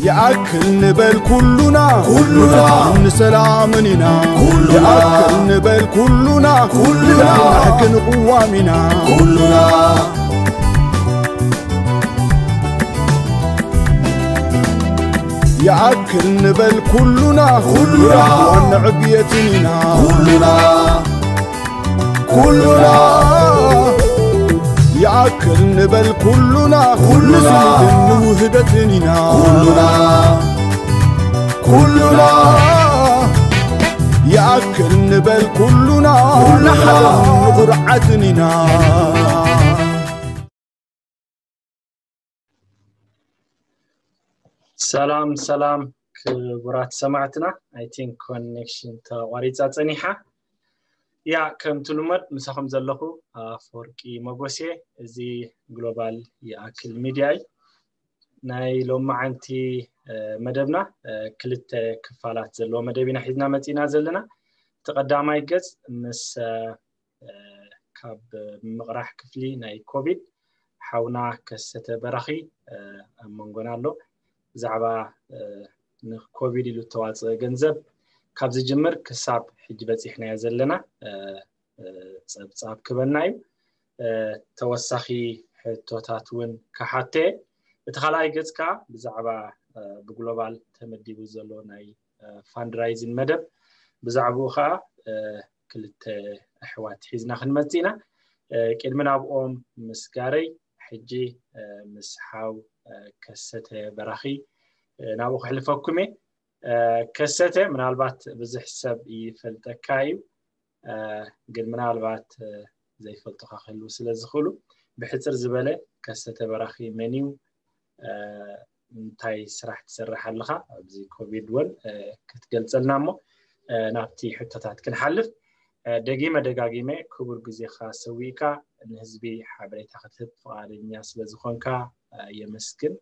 ይኣክል ንበል ኩሉና፣ ኩሉና ንሰላምን ኢና። ኩሉና ይኣክል ንበል ኩሉና፣ ኩሉና ንፍትሕን ቅዋም ኢና። ኩሉና ይኣክል ንበል ኩሉና፣ ኩሉና ንዕብየትን ኢና። ኩሉና ኩሉና ይኣክል ንበል ኩሉና፣ ኩሉና ንስኒትን ንውህደትን ኢና። ኩሉና ኩሉና ይኣክል ንበል ኩሉና፣ ኩሉና ንኹርዓትን ኢና። ሰላም ሰላም ክቡራት ሰማዕትና፣ I think connection ተቋሪፃ ፀኒሓ። ያ፣ ከምቲ ልመድ ምሳኹም ዘለኹ ኣፈወርቂ መጎሴ። እዚ ግሎባል ይኣክል ሚድያ እዩ። ናይ ሎማዓንቲ መደብና ክልተ ክፋላት ዘለዎ መደብ ኢና ሒዝና መፂና ዘለና። እቲ ቀዳማይ ገፅ ምስ ካብ ምቕራሕ ክፍሊ ናይ ኮቪድ ሓውና ከሰተ በራኺ ኣብ መንጎና ኣሎ። ብዛዕባ ንኮቪድ ኢሉ እተዋፅአ ገንዘብ ካብ ዝጅምር ክሳብ ሕጂ በፂሕናዮ ዘለና ፀብፃብ ክበና እዩ። ተወሳኺ ሕቶታት እውን ክሓተ። እቲ ካልኣይ ገፅ ከዓ ብዛዕባ ብግሎባል ተመዲቡ ዘሎ ናይ ፋንድራይዚን መደብ፣ ብዛዕባኡ ከዓ ክልተ ኣሕዋት ሒዝና ክንመፅእ ኢና። ቅድሚ ናብኦም ምስጋረይ ሕጂ ምስ ሓው ከሰተ በራኺ ናብኡ ክሕልፈኩም እየ። ከሰተ ምናልባት ብዙሕ ሰብ ይፈልጠካ እዩ፣ ግን ምናልባት ዘይፈልጡካ ክህልው ስለ ዝኽእሉ ብሕፅር ዝበለ ከሰተ በራኺ መን እዩ፣ እንታይ ስራሕ ትሰርሕ ኣለኻ ኣብዚ ኮቪድ እውን ክትገልፀልና እሞ ናብቲ ሕቶታት ክንሓልፍ። ደጊመ ደጋጊመ ክቡር ግዜኻ ሰዊእካ ንህዝቢ ሓበሬታ ክትህብ ፍቓደኛ ስለ ዝኾንካ የመስግን።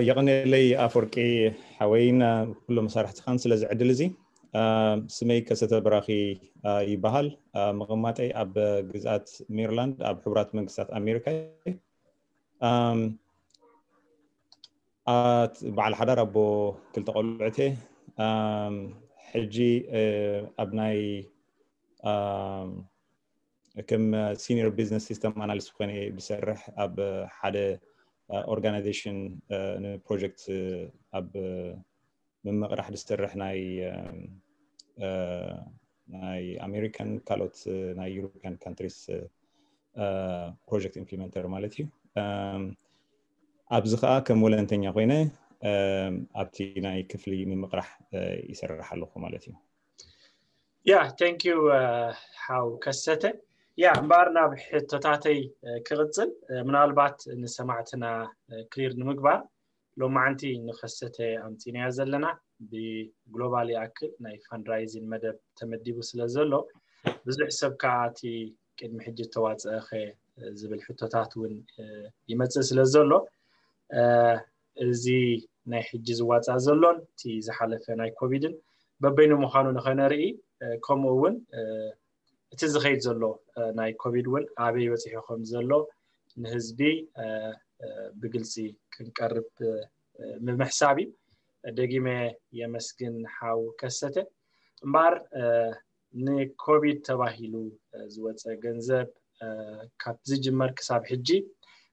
የቐኔለይ ኣፈወርቂ ሓወይን ኩሎም መሳርሕትኻን ስለዚ ዕድል እዚ። ስመይ ከሰተ በራኺ ይበሃል። ምቕማጠይ ኣብ ግዝኣት ሜሪላንድ ኣብ ሕቡራት መንግስታት ኣሜሪካ እዩ። በዓል ሓዳር ኣቦ ክልተ ቆልዑት እየ። ሕጂ ኣብ ናይ ከም ሲኒየር ቢዝነስ ሲስተም ኣናሊስት ኮይነ ዝሰርሕ ኣብ ሓደ ኦርጋናይዜሽን ንፕሮጀክት ኣብ ምምቕራሕ ዝሰርሕ ናይ ናይ ኣሜሪካን ካልኦት ናይ ዩሮፒያን ካንትሪስ ፕሮጀክት ኢምፕሊመንተር ማለት እዩ። ኣብዚ ከዓ ከም ወለንተኛ ኮይነ ኣብቲ ናይ ክፍሊ ምምቕራሕ ይሰርሕ ኣለኹ ማለት እዩ። ያ፣ thank you ሓው ከሰተ። ያ እምበኣር ናብ ሕቶታተይ ክቕፅል፣ ምናልባት ንሰማዕትና ክሊር ንምግባር ሎማዓንቲ ንከሰተ ኣምፂናዮ ዘለና ብግሎባል ይኣክል ናይ ፋንድራይዚን መደብ ተመዲቡ ስለ ዘሎ ብዙሕ ሰብ ከዓ እቲ ቅድሚ ሕጂ ተዋፀእኸ ዝብል ሕቶታት እውን ይመፅእ ስለ ዘሎ እዚ ናይ ሕጂ ዝዋፃእ ዘሎን እቲ ዝሓለፈ ናይ ኮቪድን በበይኑ ምዃኑ ንኸነርኢ ከምኡ እውን እቲ ዝኸይድ ዘሎ ናይ ኮቪድ እውን ኣበይ በፂሑ ከም ዘሎ ንህዝቢ ብግልፂ ክንቀርብ ብምሕሳብ እዩ። ደጊመ የመስግን ሓው ከሰተ። እምበኣር ንኮቪድ ተባሂሉ ዝወፀ ገንዘብ ካብ ዝጅመር ክሳብ ሕጂ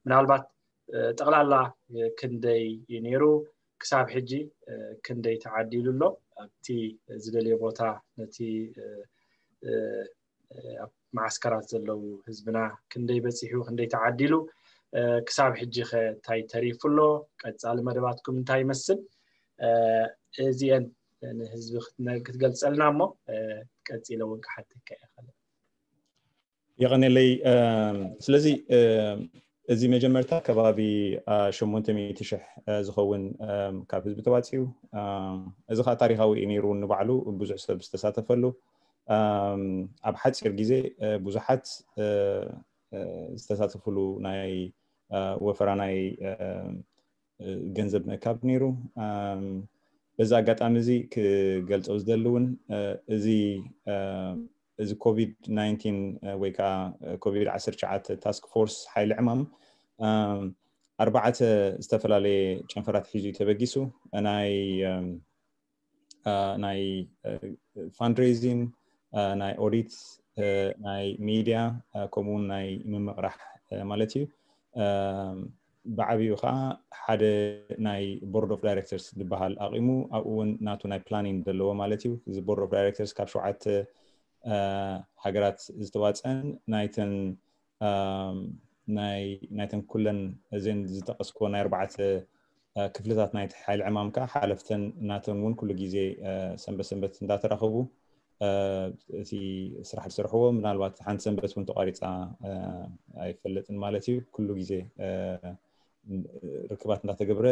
ምናልባት ጠቕላላ ክንደይ እዩ ነይሩ፣ ክሳብ ሕጂ ክንደይ ተዓዲሉ ኣሎ፣ ኣብቲ ዝደልዮ ቦታ ነቲ ኣብ መዓስከራት ዘለዉ ህዝብና ክንደይ በፂሑ፣ ክንደይ ተዓዲሉ፣ ክሳብ ሕጂ ከ እንታይ ተሪፉ ኣሎ፣ ቀፃሊ መደባትኩም እንታይ ይመስል? እዚአን ንህዝቢ ክትገልፀልና እሞ ቀፂለ እውን ክሓተካ እየ። የቐኔለይ። ስለዚ እዚ መጀመርታ ከባቢ ሸሞንተ ሚእቲ ሽሕ ዝኸውን ካብ ህዝቢ ተዋፂኡ፣ እዚ ከዓ ታሪካዊ እዩ ነይሩ ንባዕሉ ብዙሕ ሰብ ዝተሳተፈሉ። ኣብ ሓፂር ግዜ ብዙሓት ዝተሳተፍሉ ናይ ወፈራ ናይ ገንዘብ ምእካብ ነይሩ። በዚ ኣጋጣሚ እዚ ክገልፆ ዝደሊ እውን እዚ እዚ ኮቪድ ናይንቲን ወይ ከዓ ኮቪድ ዓሰርተ ትሽዓተ ታስክ ፎርስ ሓይሊ ዕማም ኣርባዕተ ዝተፈላለየ ጨንፈራት ሒዙ እዩ ተበጊሱ። ናይ ናይ fundraising፣ ናይ audit፣ ናይ media፣ ከምኡ እውን ናይ ምምቕራሕ ማለት እዩ። ብዓብኡ ከዓ ሓደ ናይ board of directors ዝበሃል ኣቂሙ፣ ኣብኡ እውን ናቱ ናይ planning ዘለዎ ማለት እዩ። እዚ board of directors ካብ ሸውዓተ ሃገራት ዝተዋፀን ናይተን ናይተን ኩለን እዘን ዝጠቀስኮ ናይ ኣርባዕተ ክፍልታት ናይቲ ሓይሊ ዕማም ከዓ ሓለፍተን ናተን እውን ኩሉ ግዜ ሰንበት ሰንበት እንዳተራኸቡ እቲ ስራሕ ዝሰርሕዎ፣ ምናልባት ሓንቲ ሰንበት እውን ተቋሪፃ ኣይፈልጥን ማለት እዩ። ኩሉ ግዜ ርክባት እንዳተገብረ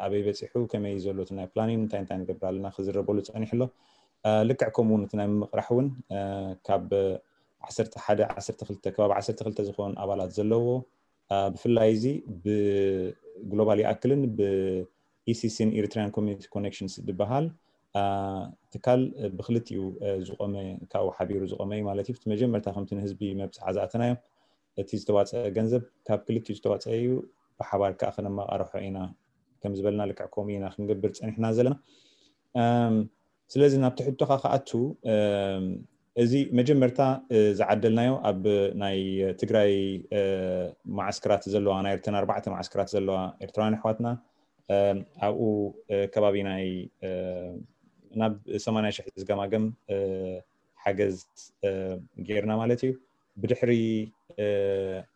ኣበይ በፂሑ፣ ከመይ ዘሎ እቲ ናይ planning፣ እንታይ እንታይ ንገብር ኣለና ክዝረበሉ ፀኒሑ ኣሎ። ልክዕ ከምኡ እውን እቲ ናይ ምምቕራሕ እውን ካብ ዓሰርተ ሓደ ዓሰርተ ክልተ ከባቢ ዓሰርተ ክልተ ዝኾኑ ኣባላት ዘለዎ፣ ብፍላይ እዚ ብ Global ይኣክልን ብ E C C ን Eritrean Community Connections ዝበሃል ትካል ብክልቲኡ ዝቆመ፣ ካብኡ ሓቢሩ ዝቆመ እዩ ማለት እዩ። መጀመርታ ከምቲ ንህዝቢ መብፅዓ ዝኣተናዮ እቲ ዝተዋፀአ ገንዘብ ካብ ክልቲኡ ዝተዋፀአ እዩ፣ ብሓባር ከዓ ከነመቃርሖ ኢና ከም ዝበልና ልክዕ ከምኡ ኢና ክንገብር ፀኒሕና ዘለና። ስለዚ ናብ ትሕቶኻ ክኣቱ፣ እዚ መጀመርታ ዝዓደልናዮ ኣብ ናይ ትግራይ መዓስከራት ዘለዋ፣ ናይ ኤርትራን ኣርባዕተ መዓስከራት ዘለዋ ኤርትራውያን ኣሕዋትና ኣብኡ ከባቢ ናይ ናብ ሰማንያ ሽሕ ዝገማገም ሓገዝ ጌርና ማለት እዩ። ብድሕሪ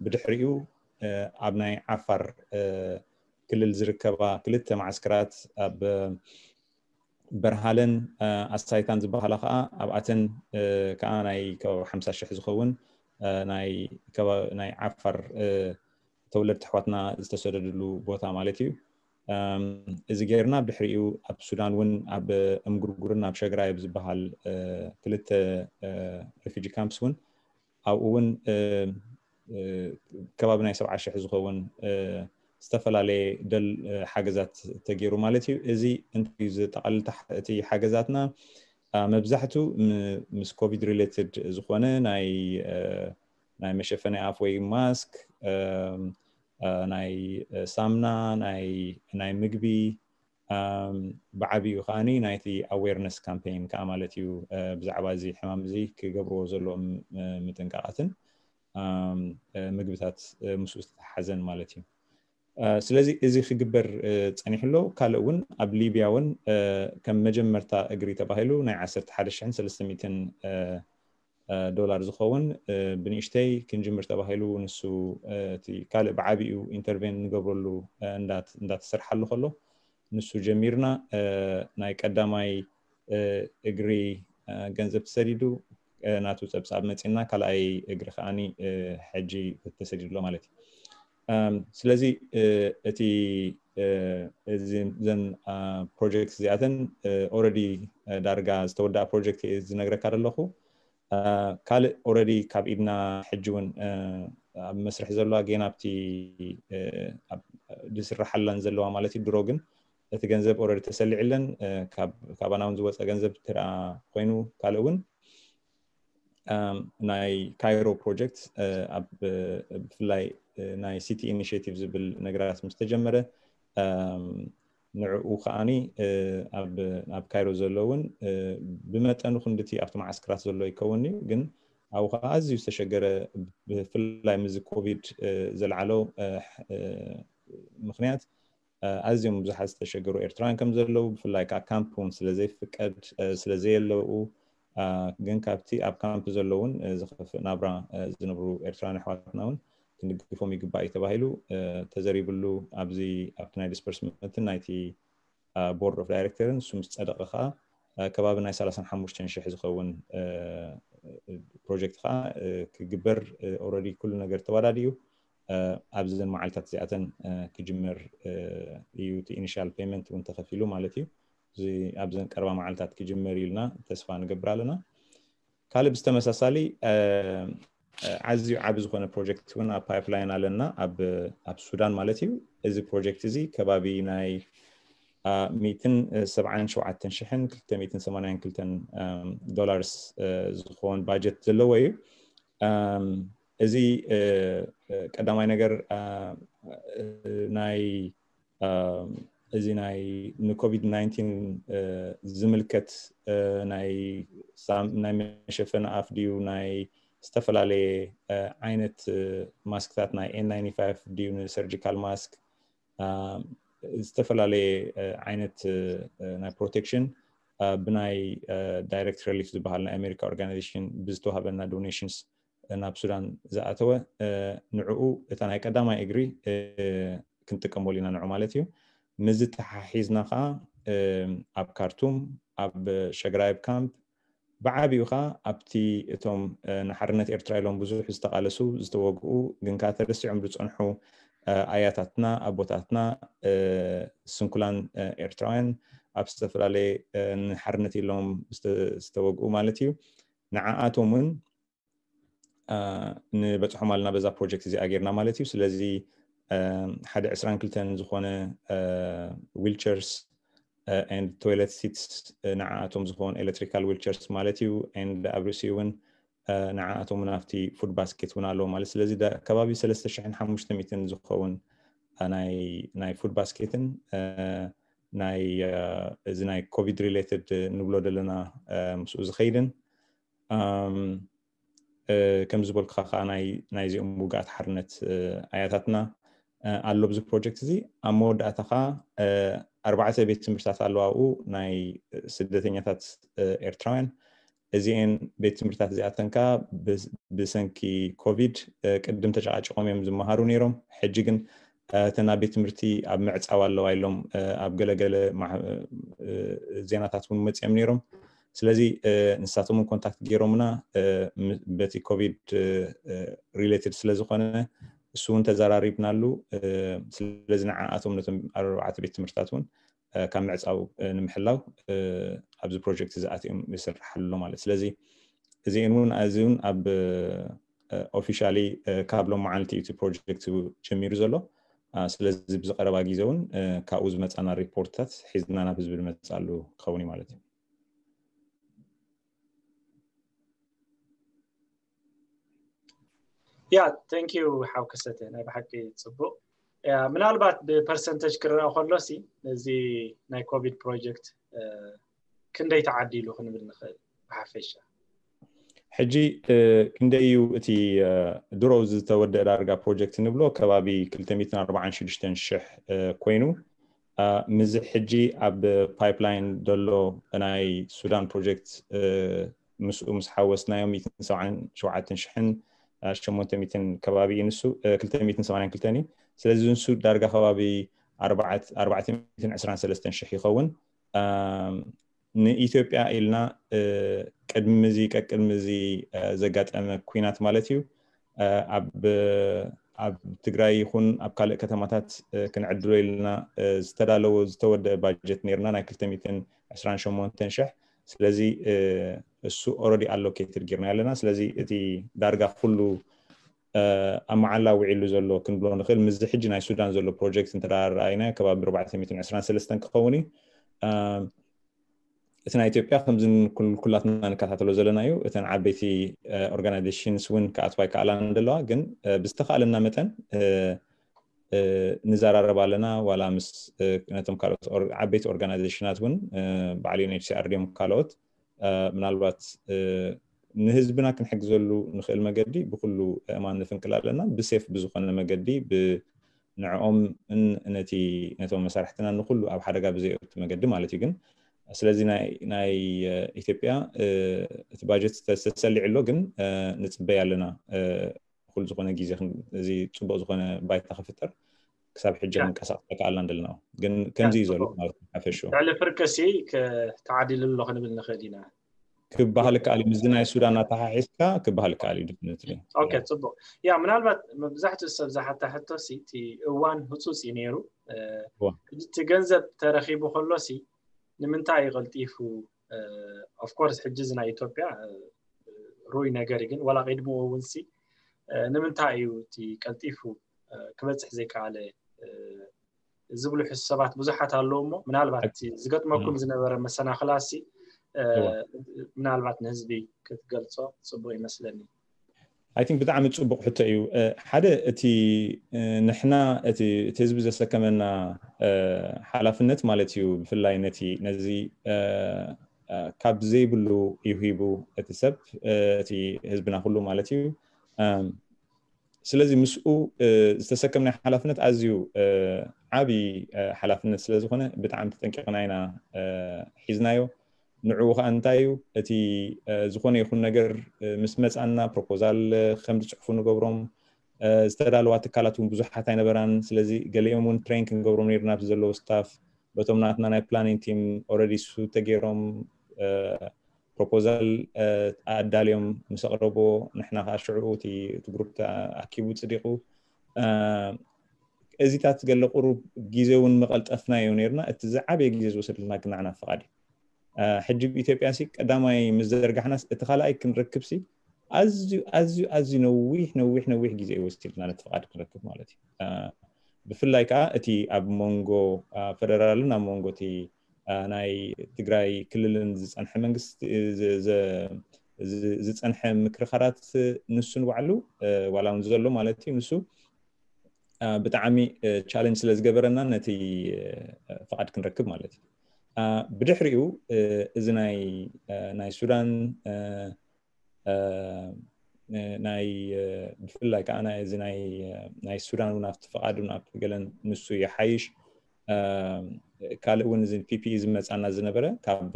ብድሕሪኡ ኣብ ናይ ዓፋር ክልል ዝርከባ ክልተ መዓስከራት ኣብ በርሃለን ኣሳይታን ዝበሃላ ከዓ ኣብኣተን ከዓ ናይ ከባቢ ሓምሳ ሽሕ ዝኸውን ናይ ዓፋር ተወለድቲ ኣሕዋትና ዝተሰደድሉ ቦታ ማለት እዩ። እዚ ጌርና ብድሕሪኡ ኣብ ሱዳን እውን ኣብ እምጉርጉርን ኣብ ሸግራይ ኣብ ዝበሃል ክልተ refugee camps እውን ኣብኡ እውን ከባቢ ናይ ሰብዓ ሽሕ ዝኸውን ዝተፈላለየ ደል ሓገዛት ተገይሩ ማለት እዩ። እዚ እንታይ እዩ ዘጠቓልል እቲ ሓገዛትና? መብዛሕቱ ምስ ኮቪድ related ዝኾነ ናይ ናይ መሸፈኒ ኣፍ ወይ ማስክ፣ ናይ ሳምና፣ ናይ ምግቢ፣ ብዓብኡ ከዓኒ ናይቲ awareness campaign ከዓ ማለት እዩ። ብዛዕባ እዚ ሕማም እዚ ክገብርዎ ዘለዎም ምጥንቃቓትን ምግብታት ምስኡ ዝተተሓዘን ማለት እዩ። ስለዚ እዚ ክግበር ፀኒሑ ኣሎ። ካልእ እውን ኣብ ሊብያ እውን ከም መጀመርታ እግሪ ተባሂሉ ናይ ዓሰርተ ሓደ ሽሕን ሰለስተ ሚእትን ዶላር ዝኸውን ብንእሽተይ ክንጅምር ተባሂሉ፣ ንሱ እቲ ካልእ ብዓቢኡ intervene ንገብረሉ እንዳተሰርሓሉ ከሎ ንሱ ጀሚርና። ናይ ቀዳማይ እግሪ ገንዘብ ተሰዲዱ፣ ናቱ ጸብጻብ መጺና፣ ካልኣይ እግሪ ከዓኒ ሕጂ ተሰዲዱ ኣሎ ማለት እዩ። ስለዚ እቲ እዘን ፕሮጀክት እዚኣተን already ዳርጋ ዝተወደኣ ፕሮጀክት እየ ዝነግረካ ዘለኹ። ካልእ already ካብ ኢድና ሕጂ እውን ኣብ መስርሕ ዘሎ፣ ጌና ኣብቲ ዝስራሓለን ዘለዋ ማለት እዩ። ድሮ ግን እቲ ገንዘብ already ተሰሊዕለን ካባና እውን ዝወፀ ገንዘብ ትርኣ ኮይኑ፣ ካልእ እውን ናይ ካይሮ ፕሮጀክት ብፍላይ ናይ ሲቲ ኢኒሽቲቭ ዝብል ነገራት ምስ ተጀመረ፣ ንዕኡ ከዓኒ ኣብ ካይሮ ዘሎ እውን ብመጠኑ ክንድቲ ኣብቲ መዓስከራት ዘሎ ይከውን እዩ፣ ግን ኣብኡ ከዓ ኣዝዩ ዝተሸገረ፣ ብፍላይ ምስዚ ኮቪድ ዘልዓሎ ምክንያት ኣዝዮም ብዙሓት ዝተሸገሩ ኤርትራውያን ከም ዘለዉ፣ ብፍላይ ከዓ ካምፕ እውን ስለ ዘይፍቀድ፣ ስለ ዘየለዉ፣ ግን ካብቲ ኣብ ካምፕ ዘለውን ዝኸፍእ ናብራ ዝነብሩ ኤርትራውያን ኣሕዋትና እውን ክንድግፎም ይግባእ እዩ ተባሂሉ ተዘሪብሉ። ኣብዚ ኣብቲ ናይ ዲስፐርስመንትን ናይቲ ቦርድ ኦፍ ዳይሬክተርን ንሱ ምስ ጸደቐ ከዓ ከባቢ ናይ ሰላሳን ሓሙሽተን ሽሕ ዝኸውን ፕሮጀክት ከዓ ክግበር already ኩሉ ነገር ተወዳዲኡ ኣብዘን መዓልታት እዚኣተን ክጅመር እዩ። እቲ ኢኒሻል ፔመንት እውን ተኸፊሉ ማለት እዩ። እዚ ኣብዘን ቀረባ መዓልታት ክጅመር እዩ ኢልና ተስፋ ንገብር ኣለና። ካልእ ብዝተመሳሳሊ ኣዝዩ ዓቢ ዝኾነ ፕሮጀክት እውን ኣብ ፓይፕላይን ኣለና፣ ኣብ ሱዳን ማለት እዩ። እዚ ፕሮጀክት እዚ ከባቢ ናይ ሚእትን ሰብዓን ሸውዓተን ሽሕን ክልተ ሚእትን ሰማንያን ክልተን ዶላርስ ዝኸውን ባጀት ዘለዎ እዩ። እዚ ቀዳማይ ነገር ናይ እዚ ናይ ንኮቪድ ናይንቲን ዝምልከት ናይ መሸፈኒ ኣፍ ድዩ፣ ናይ ዝተፈላለየ ዓይነት ማስክታት፣ ናይ ኤን ናይንቲ ፋይቭ ድዩ፣ ንሰርጂካል ማስክ፣ ዝተፈላለየ ዓይነት ናይ ፕሮቴክሽን ብናይ ዳይሬክት ሪሊፍ ዝበሃል ናይ ኣሜሪካ ኦርጋናይዜሽን ብዝተዋህበና ዶኔሽንስ ናብ ሱዳን ዝኣተወ፣ ንዕኡ እታ ናይ ቀዳማይ እግሪ ክንጥቀመሉ ኢና ንዑ ማለት እዩ። ምስዚ ተሓሒዝና ከዓ ኣብ ካርቱም፣ ኣብ ሸግራይብ ካምፕ፣ ብዓቢኡ ከዓ ኣብቲ እቶም ንሓርነት ኤርትራ ኢሎም ብዙሕ ዝተቓለሱ፣ ዝተወግኡ፣ ግን ከዓ ተረሲዖም ዝፀንሑ ኣያታትና፣ ኣቦታትና፣ ስንኩላን ኤርትራውያን ኣብ ዝተፈላለየ ንሓርነት ኢሎም ዝተወግኡ ማለት እዩ። ንዓኣቶም እውን ንበፅሖም ኣለና በዛ ፕሮጀክት እዚኣ ጌርና ማለት እዩ። ስለዚ ሓደ ዕስራን ክልተን ዝኾነ ዊልቸርስ ኤንድ ቶይለት ሲትስ፣ ንዓኣቶም ዝኾኑ ኤሌክትሪካል ዊልቸርስ ማለት እዩ። ኤንድ ኣብ ርእሲኡ እውን ንዓኣቶም እውን ኣብቲ ፉድ ባስኬት እውን ኣለዎ ማለት። ስለዚ ከባቢ ሰለስተ ሽሕን ሓሙሽተ ሚእትን ዝኸውን ናይ ፉድ ባስኬትን ናይ እዚ ናይ ኮቪድ ሪሌትድ ንብሎ ዘለና ምስኡ ዝኸይድን ከም ዝበልኩኻ ከዓ ናይዚኦም ውግኣት ሓርነት ኣያታትና ኣሎ ኣብዚ ፕሮጀክት እዚ። ኣብ መወዳእታ ከዓ ኣርባዕተ ቤት ትምህርትታት ኣለዋ ኣብኡ ናይ ስደተኛታት ኤርትራውያን። እዚኤን ቤት ትምህርትታት እዚኣተን ከዓ ብሰንኪ ኮቪድ ቅድም ተጨቃጭቆም እዮም ዝመሃሩ ነይሮም። ሕጂ ግን እተን ኣብ ቤት ትምህርቲ ኣብ ምዕፃው ኣለዋ ኢሎም ኣብ ገለገለ ዜናታት እውን መፂኦም ነይሮም። ስለዚ ንሳቶም እውን ኮንታክት ገይሮምና በቲ ኮቪድ ሪሌትድ ስለዝኾነ እሱ እውን ተዘራሪብናሉ። ስለዚ ንዓኣቶም ነቶም ኣርባዕተ ቤት ትምህርትታት እውን ካብ ምዕፃው ንምሕላው ኣብዚ ፕሮጀክት እዚ ኣትዮም ይስራሕ ኣሎ ማለት። ስለዚ እዚን እውን እዚ እውን ኣብ ኦፊሻሊ ካብ ሎም መዓልቲ እዩ እቲ ፕሮጀክት ጀሚሩ ዘሎ። ስለዚ ብዝቀረባ ግዜ እውን ካብኡ ዝመፃና ሪፖርትታት ሒዝና ናብ ህዝቢ ንመፅኣሉ ክኸውን እዩ ማለት እዩ። ያ፣ thank you ሓው ከሰተ፣ ናይ ብሓቂ ፅቡቅ። ምናልባት ብፐርሰንተጅ ክረአ ከሎ ሲ ነዚ ናይ ኮቪድ ፕሮጀክት ክንደይ ተዓዲሉ ክንብል ንኽእል ብሓፈሻ? ሕጂ ክንደይ እዩ እቲ ድሮ ዝተወደአ ዳርጋ ፕሮጀክት ንብሎ ከባቢ ክልተ ሚእትን ኣርባዓን ሽዱሽተን ሽሕ ኮይኑ፣ ምስዚ ሕጂ ኣብ ፓይፕላይን ዘሎ ናይ ሱዳን ፕሮጀክት ምስኡ ምስ ሓወስናዮ ሚእትን ሰብዓን ሸውዓተን ሽሕን ሸሞንተ ሚእትን ከባቢ እዩ ንሱ፣ ክልተ ሚእትን ሰማንያን ክልተን እዩ። ስለዚ ንሱ ዳርጋ ከባቢ ኣርባዕተ ሚእትን ዕስራን ሰለስተን ሽሕ ይኸውን። ንኢትዮጵያ ኢልና ቅድሚ እዚ ቀቅድሚ እዚ ዘጋጠመ ኩናት ማለት እዩ ኣብ ትግራይ ይኹን ኣብ ካልእ ከተማታት ክንዕድሎ ኢልና ዝተዳለወ ዝተወደአ ባጀት ነርና ናይ ክልተ ሚእትን ዕስራን ሸሞንተን ሽሕ። ስለዚ እሱ ኦረዲ ኣሎኬትድ ጌርና ኣለና። ስለዚ እቲ ዳርጋ ኩሉ ኣብ መዓላ ውዒሉ ዘሎ ክንብሎ ንኽእል። ምስዚ ሕጂ ናይ ሱዳን ዘሎ ፕሮጀክት እንተ ረኣይና ከባቢ ኣርባዕተ ሚእትን ዕስራን ሰለስተን ክኸውን እዩ። እቲ ናይ ኢትዮጵያ ከምዚ ኩላትና ንከታተሎ ዘለና እዩ። እተን ዓበይቲ ኦርጋናይዜሽንስ እውን ክኣትዋ ይከኣላ እንደለዋ፣ ግን ብዝተኻእለና መጠን ንዘራረብ ኣለና። ዋላ ምስ ነቶም ካልኦት ዓበይቲ ኦርጋናይዜሽናት እውን በዓል ዩኤንኤችሲኣር ድዮም ካልኦት ምናልባት ንህዝብና ክንሕግዘሉ ንኽእል መገዲ ብኩሉ እማን ንፍንቅል ኣለና። ብሴፍ ብዝኾነ መገዲ ንዕኦም ነቲ ነቶም መሳርሕትና ንኩሉ ኣብ ሓደጋ ብዘይእቱ መገዲ ማለት እዩ። ግን ስለዚ ናይ ኢትዮጵያ እቲ ባጀት ተሰሊዑ ኣሎ፣ ግን ንፅበይ ኣለና ኩሉ ዝኾነ ግዜ እዚ ፅቡቅ ዝኾነ ባይታ ክፍጠር ክሳብ ሕጂ ክንቀሳቀስ ኣይከኣልና እንደለና። ግን ከምዚ እዩ ዘሎ ማለት ሓፈሹ። ልዕሊ ፍርቅሲ ተዓዲሉ ኣሎ ክንብል ንኽእል ኢና። ክበሃል ይከኣል እዩ። ምስዚ ናይ ሱዳን ኣተሓሒዝካ ክበሃል ይከኣል እዩ። ዲፍኒትሊ። ኦኬ፣ ፅቡቅ። ያ፣ ምናልባት መብዛሕትኡ ሰብ ዝሓታ ሕቶ ሲ እቲ እዋን ህፁፅ እዩ ነይሩ። እቲ ገንዘብ ተረኺቡ ከሎ ሲ ንምንታይ እዩ ቀልጢፉ? ኦፍኮርስ ሕጂ እዚ ናይ ኢትዮጵያ ሩይ ነገር ግን ዋላ ቅድምኡ እውን ሲ ንምንታይ እዩ እቲ ቀልጢፉ ክበፅሕ ዘይከኣለ ዝብሉ ሕሱ ሰባት ብዙሓት ኣለዉ። እሞ ምናልባት ዝገጥመኩም ዝነበረ መሰናኽላሲ ምናልባት ንህዝቢ ክትገልፆ ፅቡቅ ይመስለኒ። I think ብጣዕሚ ጽቡቕ ሕቶ እዩ። ሓደ እቲ ንሕና እቲ ህዝቢ ዘሰከመና ሓላፍነት ማለት እዩ። ብፍላይ ነቲ ነዚ ካብ ዘይብሉ እዩ ሂቡ እቲ ሰብ፣ እቲ ህዝብና ኩሉ ማለት እዩ። ስለዚ ምስኡ ዝተሰከምናይ ሓላፍነት ኣዝዩ ዓብዪ ሓላፍነት ስለዝኾነ ብጣዕሚ ተጠንቂቕና ኢና ሒዝናዮ። ንዕኡ ከዓ እንታይ እዩ እቲ ዝኾነ ይኹን ነገር ምስ መፃና ፕሮፖዛል ከም ዝፅሕፉ ንገብሮም። ዝተዳለዋ ትካላት እውን ብዙሓት ኣይነበራን። ስለዚ ገሊኦም እውን ትሬን ክንገብሮም ነይርና ብዘለዉ ስታፍ በቶም ናትና ናይ ፕላኒንግ ቲም ኦረዲ ሱ ተገይሮም ፕሮፖዛል ኣዳልዮም ምስ ኣቕረቦ ንሕና ከዓ ሽዑ እቲ ግሩፕ ኣኪቡ ፅዲቑ። እዚታት ገለ ቁሩብ ግዜ እውን መቐልጠፍናዮ ነይርና። እቲ ዝዓበየ ግዜ ዝወሰድልና ግን ንዓና ፍቓድ እዩ። ሕጂ ብኢትዮጵያ ሲ ቀዳማይ ምስ ዘርጋሕናስ እቲ ካልኣይ ክንረክብ ሲ ኣዝዩ ኣዝዩ ኣዝዩ ነዊሕ ነዊሕ ነዊሕ ግዜ ወሲድና ነቲ ፍቓድ ክንረክብ ማለት እዩ። ብፍላይ ከዓ እቲ ኣብ መንጎ ፈደራልን ኣብ መንጎ እቲ ናይ ትግራይ ክልልን ዝፀንሐ መንግስቲ ዝፀንሐ ምክርኻራት ንሱ ንባዕሉ ዋላ እውን ዘሎ ማለት እዩ ንሱ ብጣዕሚ ቻለንጅ ስለ ዝገበረና ነቲ ፍቓድ ክንረክብ ማለት እዩ። ብድሕሪኡ እዚ ናይ ናይ ሱዳን ናይ ብፍላይ ከዓ እዚ ናይ ሱዳን እውን ኣብቲ ፍቓድ እውን ኣብቲ ገለን ንሱ ይሓይሽ። ካልእ እውን እዚ ፒፒኢ ዝመፃና ዝነበረ ካብ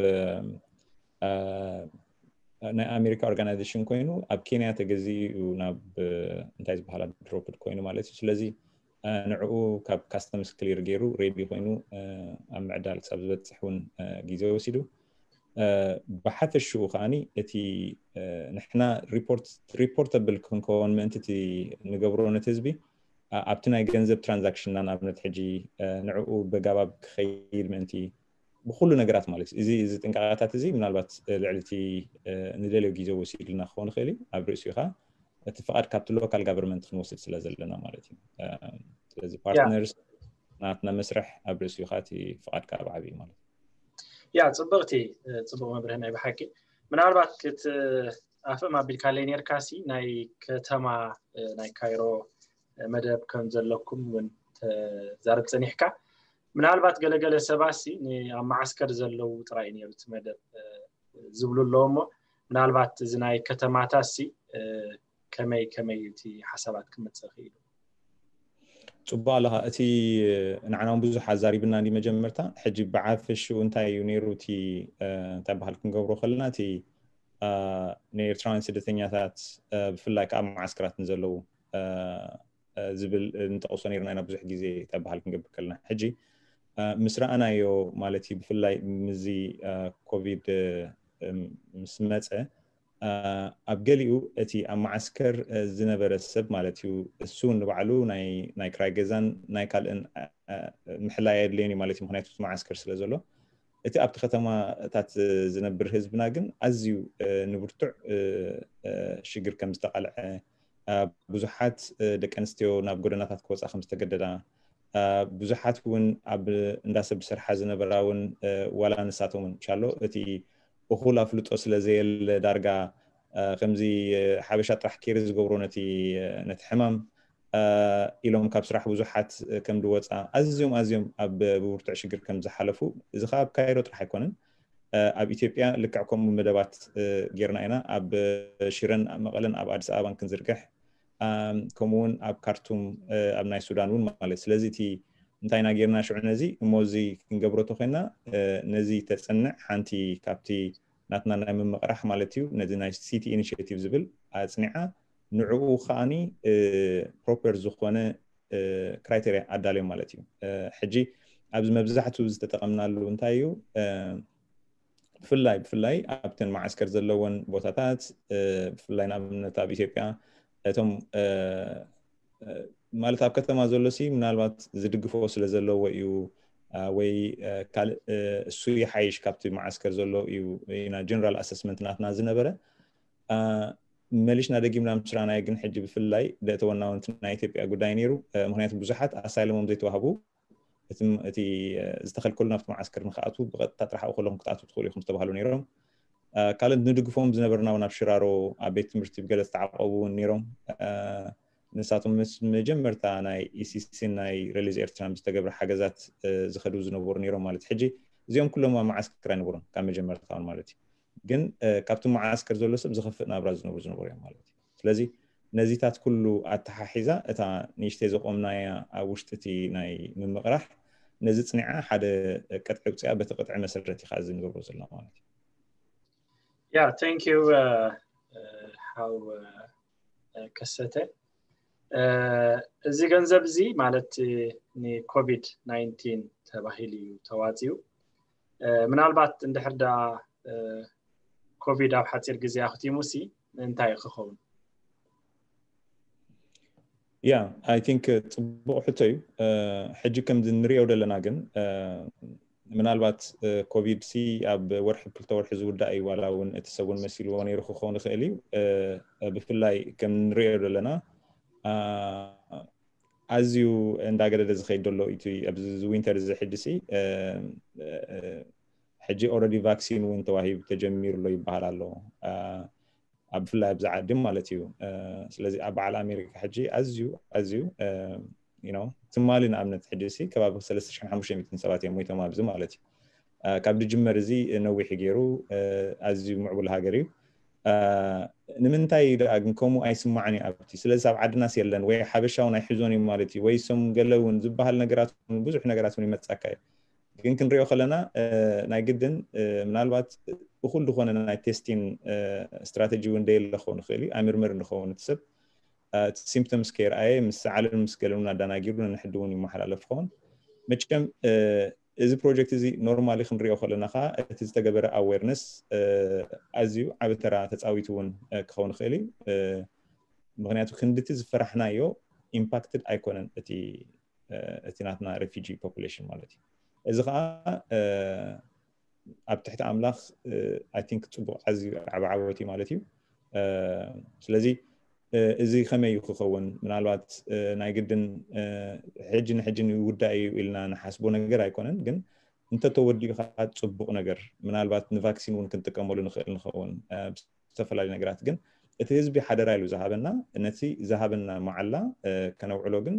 ናይ ኣሜሪካ ኦርጋናይዜሽን ኮይኑ ኣብ ኬንያ ተገዚኡ እዩ ናብ እንታይ ዝበሃላ ድሮፕድ ኮይኑ ማለት እዩ። ስለዚ ንዕኡ ካብ ካስተምስ ክሊር ገይሩ ሬዲ ኮይኑ ኣብ ምዕዳል ክሳብ ዝበፅሕ እውን ግዜ ወሲዱ። ብሓፈሽኡ ከዓኒ እቲ ንሕና ሪፖርተብል ክንከውን ምእንቲ እቲ ንገብሮ ነቲ ህዝቢ ኣብቲ ናይ ገንዘብ ትራንዛክሽንና ንኣብነት ሕጂ ንዕኡ በጋባብ ክኸይድ ምእንቲ ብኩሉ ነገራት ማለት እዩ። እዚ እዚ ጥንቃቐታት እዚ ምናልባት ልዕሊ እቲ ንደልዮ ግዜ ወሲድልና ክኸውን ይኽእል እዩ። ኣብ ርእሲኡ ከዓ እቲ ፍቓድ ካብቲ ሎካል ጋቨርንመንት ክንወስድ ስለ ዘለና ማለት እዩ። ስለዚ ፓርትነርስ ናትና መስርሕ ኣብ ርእሲኡ ከዓ እቲ ፍቓድ ከዓ ብዓብዩ ማለት እዩ። ያ ጽብቕቲ ጽቡቕ መብርህ ናይ ብሓቂ። ምናልባት ክትኣፍእም ኣቢልካለይ ነርካ ሲ ናይ ከተማ ናይ ካይሮ መደብ ከም ዘለኩም እውን ተዛርብ ጸኒሕካ። ምናልባት ገለገለ ሰባት ሲ ኣብ መዓስከር ዘለዉ ጥራይ ነይሩ እቲ መደብ ዝብሉ ኣለዉ እሞ ምናልባት እዚ ናይ ከተማታት ሲ ከመይ ከመይ እቲ ሓሳባት ክመጽእ ክኢሉ? ጽቡቕ ኣለኻ። እቲ ንዓና እውን ብዙሕ ኣዛሪብና እንዲ መጀመርታ። ሕጂ ብዓፈሽኡ እንታይ እዩ ነይሩ እቲ እንታይ በሃል ክንገብሮ ከለና እቲ ንኤርትራውያን ስደተኛታት ብፍላይ ከዓ ኣብ መዓስከራት ንዘለዉ ዝብል ንጠቕሶ ነይርና ኢና ብዙሕ ግዜ እንታይ በሃል ክንገብር ከለና። ሕጂ ምስ ረኣናዮ ማለት እዩ ብፍላይ ምዚ ኮቪድ ምስ መፀ ኣብ ገሊኡ እቲ ኣብ መዓስከር ዝነበረ ሰብ ማለት እዩ እሱ ንባዕሉ ናይ ክራይ ገዛን ናይ ካልእን ምሕላይ ኣየድለዮን እዩ ማለት እዩ። ምክንያቱ መዓስከር ስለ ዘሎ እቲ ኣብቲ ከተማታት ዝነብር ህዝብና ግን ኣዝዩ ንብርቱዕ ሽግር ከም ዝተቃልዐ ብዙሓት ደቂ ኣንስትዮ ናብ ጎደናታት ክወፃ ከም ዝተገደዳ ብዙሓት እውን ኣብ እንዳሰብ ዝሰርሓ ዝነበራ እውን ዋላ ንሳቶም እውን ሻሎ እቲ እኹል ኣፍልጦ ስለ ዘየለ ዳርጋ ከምዚ ሓበሻ ጥራሕ ኬር ዝገብሮ ነቲ ነቲ ሕማም ኢሎም ካብ ስራሕ ብዙሓት ከም ዝወፃ ኣዝዮም ኣዝዮም ኣብ ብብርቱዕ ሽግር ከም ዝሓለፉ እዚ ከዓ ኣብ ካይሮ ጥራሕ ኣይኮነን። ኣብ ኢትዮጵያ ልክዕ ከምኡ መደባት ጌርና ኢና። ኣብ ሽረን ኣብ መቐለን ኣብ ኣዲስ ኣበባን ክንዝርግሕ ከምኡውን ኣብ ካርቱም ኣብ ናይ ሱዳን እውን ማለት ስለዚ እቲ እንታይ ኢና ጌርና ሽዑ ነዚ እሞ እዚ ክንገብሮ ተኮይና ነዚ ተፅንዕ ሓንቲ ካብቲ ናትና ናይ ምምቕራሕ ማለት እዩ ነዚ ናይ ሲቲ ኢኒሽቲቭ ዝብል ኣፅኒዓ ንዕኡ ከዓኒ ፕሮፐር ዝኾነ ክራይቴሪያ ኣዳልዮም ማለት እዩ። ሕጂ ኣብዚ መብዛሕትኡ ዝተጠቐምናሉ እንታይ እዩ ብፍላይ ብፍላይ ኣብተን መዓስከር ዘለወን ቦታታት ብፍላይ ንኣብነት ኣብ ኢትዮጵያ እቶም ማለት ኣብ ከተማ ዘሎ ሲ ምናልባት ዝድግፎ ስለ ዘለዎ እዩ ወይ ካልእ እሱ ይሓይሽ ካብቲ መዓስከር ዘሎ እዩ ኢና ጀነራል ኣሰስመንት ናትና ዝነበረ። መሊሽና ደጊምና ምስ ረኣናዮ ግን ሕጂ ብፍላይ ደእተወና እውን ናይ ኢትዮጵያ ጉዳይ ነይሩ። ምክንያቱ ብዙሓት ኣሳይለሞም ዘይተዋህቡ እቲ ዝተኸልከሉ ናብቲ መዓስከር ንክኣትዉ ብቐጥታ ጥራሕ ከለኹም ክትኣትዉ ትኽእሉ ኢኹም ዝተባህሉ ነይሮም። ካልእ ንድግፎም ዝነበርና እውን ኣብ ሽራሮ ኣብ ቤት ትምህርቲ ብገለ ዝተዓቆቡ እውን ነይሮም። ንሳቶም ምስ መጀመርታ ናይ ኢሲሲ ናይ ሪሊዝ ኤርትራን ዝተገብረ ሓገዛት ዝኸዱ ዝነበሩ ነይሮም ማለት። ሕጂ እዚኦም ኩሎም ኣብ መዓስከር ኣይነበሩን ካብ መጀመርታውን ማለት እዩ። ግን ካብቲ መዓስከር ዘሎ ሰብ ዝኸፍእ ናብራ ዝነብሩ ዝነበሩ እዮም ማለት እዩ። ስለዚ ነዚታት ኩሉ ኣተሓሒዛ እታ ንእሽተይ ዘቆምናያ ኣብ ውሽጢ እቲ ናይ ምምቕራሕ ነዚ ጽኒዓ ሓደ ቅጥዒ ውፅያ በቲ ቅጥዒ መሰረት ኢኻ እዚ ንገብሮ ዘለና ማለት እዩ። ያ thank you ሓው ከሰተ። እዚ ገንዘብ እዚ ማለት ንኮቪድ ናይንቲን ተባሂሉ እዩ ተዋፂኡ። ምናልባት እንድሕር ዳ ኮቪድ ኣብ ሓፂር ግዜ ኣኽቲሙ ሲ እንታይ ክኸውን? ያ I think ፅቡቕ ሕቶ እዩ። ሕጂ ከምዚ ንሪኦ ዘለና ግን ምናልባት ኮቪድ ሲ ኣብ ወርሒ ክልተ ወርሒ ዝውዳእ እዩ፣ ዋላ እውን እቲ ሰብ እውን መሲልዎ ነይሩ ክኸውን ይኽእል እዩ። ብፍላይ ከም ንሪኦ ዘለና ኣዝዩ እንዳገደደ ዝኸይድ ዘሎ እቲ ኣብዚ ዊንተር እዚ ሕጂ ሲ ሕጂ already ቫክሲን እውን ተዋሂቡ ተጀሚሩ ኣሎ ይበሃል ኣሎ፣ ኣብ ብፍላይ ኣብዚ ዓዲ ማለት እዩ። ስለዚ ኣብ በዓል ኣሜሪካ ሕጂ ኣዝዩ ኣዝዩ ትማሊ ንኣብነት ሕጂ ሲ ከባቢ ሰለስተ ሽሕን ሓሙሽተ ሚእትን ሰባት እዮም ሞይቶም ኣብዚ ማለት እዩ። ካብ ድጅመር እዚ ነዊሕ ገይሩ ኣዝዩ ምዕቡል ሃገር እዩ። ንምንታይ ደኣ ግን ከምኡ ኣይስማዕን እዩ ኣብቲ? ስለዚ ኣብ ዓድናስ የለን ወይ ሓበሻ እውን ኣይሕዞን እዩ ማለት እዩ ወይ ሶም ገለ እውን ዝበሃል ነገራት ብዙሕ ነገራት እውን ይመፀካ እዩ። ግን ክንሪኦ ከለና ናይ ግድን ምናልባት እኹል ዝኾነ ናይ ቴስቲን ስትራተጂ እውን ደየለ ክኸውን ይኽእል እዩ። ኣይምርምር እንኸውን እቲ ሰብ ሲምፕቶምስ ከይረኣየ ምስ ሰዓልን ምስ ገለን ኣዳናጊሩ ንንሕዲ እውን ይመሓላለፍ ክኸውን። መቸም እዚ ፕሮጀክት እዚ ኖርማሊ ክንሪኦ ከለና ከዓ እቲ ዝተገበረ ኣዌርነስ ኣዝዩ ዓብ ተራ ተፃዊቱ እውን ክኸውን ይኽእል እዩ። ምክንያቱ ክንድቲ ዝፈራሕናዮ ኢምፓክትድ ኣይኮነን እቲ እቲ ናትና ሬፊጂ ፖፑሌሽን ማለት እዩ። እዚ ከዓ ኣብ ትሕቲ ኣምላኽ I think ፅቡቕ ኣዝዩ ዓብ ዓወት እዩ ማለት እዩ። ስለዚ እዚ ከመይ እዩ ክኸውን? ምናልባት ናይ ግድን ሕጂ ንሕጂ ይውዳእ እዩ ኢልና ንሓስቦ ነገር ኣይኮነን፣ ግን እንተተወዲኡ ከዓ ፅቡቕ ነገር፣ ምናልባት ንቫክሲን እውን ክንጥቀመሉ ንኽእል ንኸውን ብዝተፈላለዩ ነገራት። ግን እቲ ህዝቢ ሓደራ ኢሉ ዝሃበና፣ ነቲ ዝሃበና መዓላ ከነውዕሎ ግን